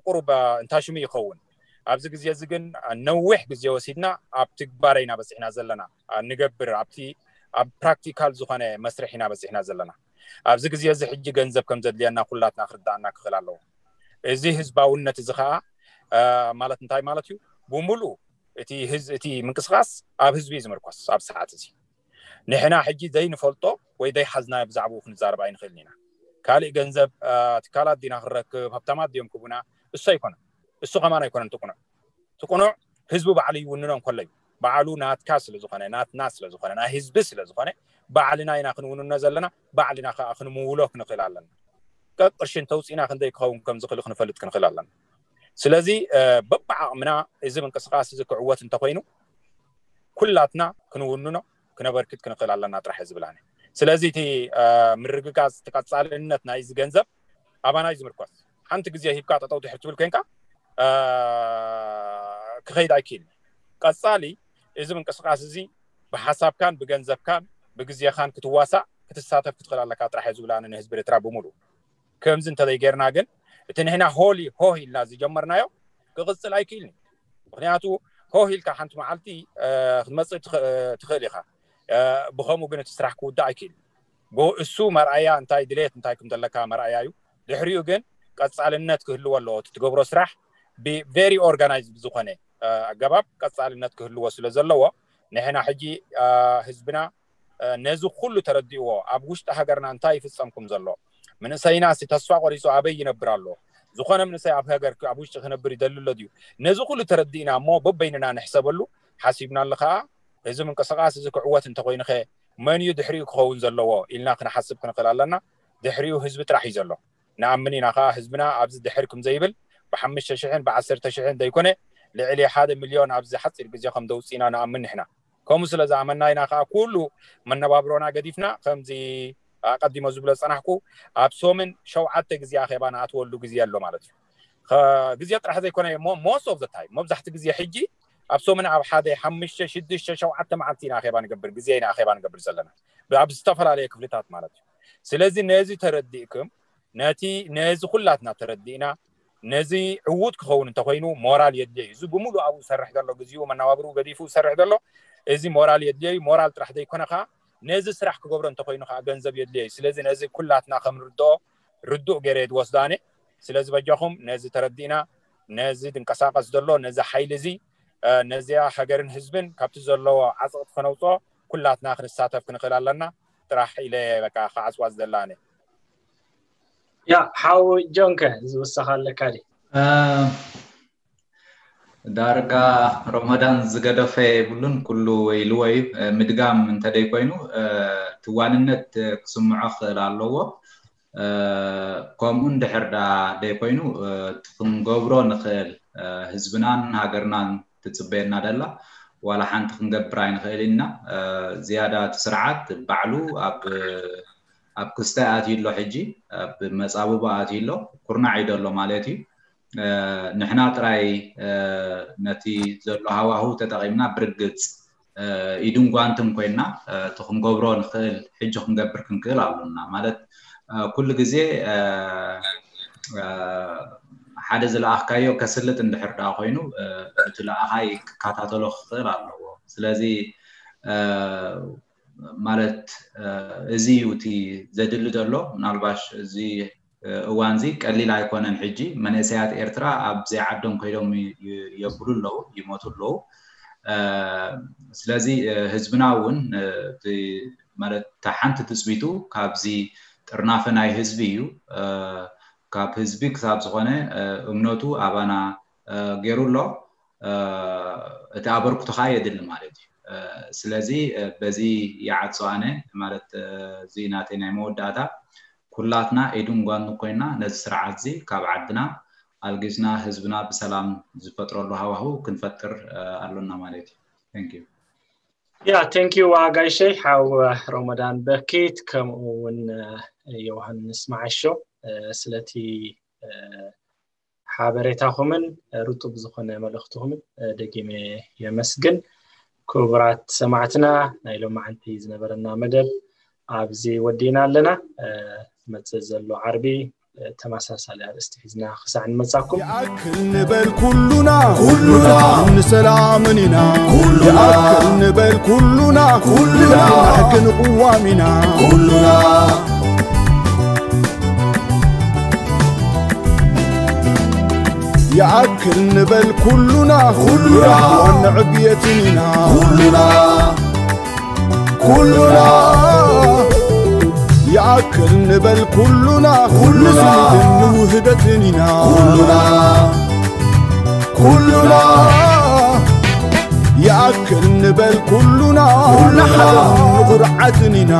ቁሩብ እንታይ ሽሙ ይኸውን። ኣብዚ ግዜ እዚ ግን ነዊሕ ግዜ ወሲድና ኣብ ትግባረ ኢና በፂሕና ዘለና። ንገብር ኣብቲ ኣብ ፕራክቲካል ዝኾነ መስርሕ ኢና በፂሕና ዘለና። ኣብዚ ግዜ እዚ ሕጂ ገንዘብ ከም ዘድልየና ኩላትና ክርዳእና ክኽእል ኣለዎ። እዚ ህዝባውነት እዚ ከዓ ማለት እንታይ ማለት እዩ? ብምሉእ እቲ ህዝ እቲ ምንቅስቃስ ኣብ ህዝቢ እዩ ዝምርኮስ። ኣብ ሰዓት እዚ ንሕና ሕጂ ዘይንፈልጦ ወይ ዘይሓዝናዮ ብዛዕባኡ ክንዛረብ ኣይንኽእልን ኢና። ካልእ ገንዘብ ትካላት ዲና ክንረክብ፣ ሃብታማት ድዮም ክቡና፣ እሱ ኣይኮነን። እሱ ከማን ኣይኮነን ትቁኑዕ ትቁኑዕ ህዝቢ ባዕሉ ይውንኖ እንከሎ እዩ። ባዕሉ ናትካ ስለ ዝኾነ፣ ናትና ስለ ዝኾነ፣ ናይ ህዝቢ ስለ ዝኾነ ባዕልና ኢና ክንውንኖ ዘለና። ባዕልና ከዓ ክንምውሎ ክንኽእል ኣለና። ቀቅ ቅርሽን ተውፂና ክንደይ ክኸውን ከም ዝኽእል ክንፈልጥ ክንኽእል ኣለና። ስለዚ በብዓቕምና እዚ ምንቅስቃስ እዚ ክዕወት እንተኮይኑ ኩላትና ክንውንኖ ክነበርክት ክንኽእል ኣለና ጥራሕ ዝብል ኣነ። ስለዚ እቲ ምርግጋፅ፣ እቲ ቀፃልነት ናይዚ ገንዘብ ኣባና እዩ ዝምርኮስ። ሓንቲ ግዜ ሂብካ ጠጠው ትሕር ትብል ኮይንካ ክኸይድ ኣይክእል። ቀፃሊ እዚ ምንቅስቃስ እዚ ብሓሳብካን ብገንዘብካን ብግዜኻን ክትዋሳእ ክትሳተፍ ክትኽእል ኣለካ ጥራሕ እዩ ዝብል ኣነ ንህዝቢ ኤርትራ ብምሉእ። ከምዚ እንተዘይጌርና ግን እቲ ንሕና ሆሊ ሆህ ኢልና ዝጀመርናዮ ክቕፅል ኣይክእልን እዩ። ምክንያቱ ሆህ ኢልካ ሓንቲ መዓልቲ ክትመፅእ ትኽእል ኢኻ። ብኸምኡ ግን እቲ ስራሕ ክውዳእ ኣይክእልን። እሱ መርኣያ እንታይ ድሌት እንታይ ከም ዘለካ መርኣያ እዩ። ድሕሪኡ ግን ቀፃልነት ክህልዎ ኣለዎ። እቲ ትገብሮ ስራሕ ብቬሪ ኦርጋናይዝድ ዝኾነ ኣገባብ ቀፃልነት ክህልዎ ስለ ዘለዎ ንሕና ሕጂ ህዝብና ነዚ ኩሉ ተረዲእዎ ኣብ ውሽጢ ሃገርና እንታይ ይፍፀምኩም ዘሎ፣ መንእሰይና ሲ ተስፋ ቆሪፁ ኣበይ ይነብር ኣሎ፣ ዝኾነ መንእሰይ ኣብ ሃገር ኣብ ውሽጢ ክነብር ይደሊ ኣሎ ድዩ? ነዚ ኩሉ ተረዲእና እሞ በበይንና ንሕሰበሉ ሓሲብናሉ ከዓ እዚ ምንቅስቃስ እዚ ክዕወት እንተኮይኑኸ መን እዩ ድሕሪኡ ክኸውን ዘለዎ ኢልና ክንሓስብ ክንኽእል ኣለና። ድሕሪኡ ህዝቢ ጥራሕ እዩ ዘሎ። ንኣምን ኢና ከዓ ህዝብና ኣብዚ ድሕር ከም ዘይብል ብሓሙሽተ ሽሕን ብዓሰርተ ሽሕን ዘይኮነ ልዕሊ ሓደ ሚልዮን ኣብዚ ሓፂር ግዜ ከም ደውፅእና ንኣምን ንሕና። ከምኡ ስለ ዝኣመና ኢና ከዓ ኩሉ መነባብሮና ገዲፍና ከምዚ ኣቀዲሞ ዝብሎ ዝፀናሕኩ ኣብ ሶምን ሸውዓተ ግዜ ኣኼባ ንኣትወሉ ግዜ ኣሎ ማለት እዩ። ግዜ ጥራሕ ዘይኮነ እሞ most of the time መብዛሕቲ ግዜ ሕጂ ኣብ ሶምን ኣብ ሓደ ሓሙሽተ ሽዱሽተ ሸውዓተ መዓልቲ ኢና ኣኼባ ንገብር ግዜ ኢና ኣኼባ ንገብር ዘለና ኣብ ዝተፈላለየ ክፍልታት ማለት እዩ። ስለዚ ነዚ ተረዲእኩም ነቲ ነዚ ኩላትና ተረዲእና ነዚ ዕዉት ክኸውን እንተኮይኑ ሞራል የድልዮ እዩ። እዚ ብምሉእ ኣብኡ ዝሰርሕ ዘሎ ግዜኡ መነባብርኡ ገዲፉ ዝሰርሕ ዘሎ እዚ ሞራል የድልዮ እዩ። ሞራል ጥራሕ ዘይኮነ ከዓ ነዚ ስራሕ ክገብሮ እንተኮይኑ ከዓ ገንዘብ የድልዮ እዩ። ስለዚ ነዚ ኩላትና ከም ርድኦ ርዱእ ገይረ እየ ዝወስዶ ኣነ። ስለዚ በጃኹም ነዚ ተረዲእና ነዚ ድንቀሳቀስ ዘሎ ነዚ ሓይሊ እዚ ነዚኣ ሃገርን ህዝብን ካብቲ ዘለዎ ዓፀቕቲ ከነውፅኦ ኩላትና ክንሳተፍ ክንኽእል ኣለና ጥራሕ ኢለ በቃ ክዓፅዋ ዝደሊ ኣነ። ያ ሓው ጆንከ ዝውሰኽ ኣለካ ድዩ? ዳርጋ ረመዳን ዝገደፈ የብሉን፣ ኩሉ ወይልዎ እዩ። ምድጋም እንተደይ ኮይኑ፣ እቲ ዋንነት ክስምዖ ክኽእል ኣለዎ። ከምኡ እንድሕር ደኣ ደይ ኮይኑ፣ እቲ ክንገብሮ ንኽእል፣ ህዝብናን ሃገርናን ትጽበየና ደላ ዋላ ሓንቲ ክንገብር ኣይንኽእል ኢና። ዝያዳ እቲ ስርዓት ባዕሉ ኣብ ኣብ ክስታይ ኣትዩ ኣሎ፣ ሕጂ ኣብ መጻብቦ ኣትዩ ኣሎ፣ ኩርናዕ እዩ ዘሎ ማለት እዩ። ንሕና ጥራይ ነቲ ዘሎ ሃዋሁ ተጠቒምና ብርግጽ ኢድን ጓንትን ኮይና እቲ ክንገብሮ ንኽእል ሕጂ ክንገብር ክንክእል ኣሎና። ማለት ኩሉ ግዜ ሓደ ዝለኣኽካዮ ከስልጥ እንድሕር ደኣ ኮይኑ እቲ ለኣኻይ ክከታተሎ ክኽእል ኣለዎ። ስለዚ ማለት እዚ እዩ እቲ ዘድሊ ዘሎ። ምናልባሽ እዚ እዋን እዚ ቀሊል ኣይኮነን። ሕጂ መንእሰያት ኤርትራ ኣብ ዘይዓዶም ከይዶም የብሉ ኣለዉ፣ ይሞቱ ኣለዉ። ስለዚ ህዝብና እውን ማለት ሓንቲ ትፅቢቱ ካብዚ ጥርናፈ ናይ ህዝቢ እዩ። ካብ ህዝቢ ክሳብ ዝኾነ እምነቱ ኣባና ገይሩ ኣሎ። እቲ ኣበርክቶ ከዓ የድሊ ማለት እዩ። ስለዚ በዚ ይዓጾ ኣነ ማለት እዚ ናተይ ናይ መወዳእታ ኩላትና ኢድን ጓንትን ኮይና ነዚ ስርዓት እዚ ካብ ዓድና ኣልጊስና ህዝብና ብሰላም ዝፈጥረሉ ሃዋሁ ክንፈጥር ኣሎና ማለት እዩ። Thank you። ያ thank you ኣጋይሸይ ሓው ረመዳን በኪት ከምኡ እውን ዮሃንስ መዓሾ ስለቲ ሓበሬታኹምን ርጡብ ዝኾነ መልእኽትኹምን ደጊመ የመስግን። ክቡራት ሰማዕትና ናይ ሎማዓንቲ ዝነበረና መደብ ኣብዚ ወዲና ኣለና። ዝመፅእ ዘሎ ዓርቢ ተመሳሳሊ ኣርእስቲ ሒዝና ክሳዕ ንመጻኩም ይኣክል ንበል ኩሉና ኩሉና ንሰላምን ኢና ኩሉና ይኣክል ንበል ኩሉና ኩሉና ንሕግን ቅዋም ኢና ኩሉና ይኣክል ንበል ኩሉና ኩሉና ዋንዕብየትን ኢና ኩሉና ኩሉና ይኣክል ንበል ኩሉና ኩሉና ንውህደትን ኢና ኩሉና ኩሉና ይኣክል ንበል ኩሉና ንሓዘን ንኹርዓትን ኢና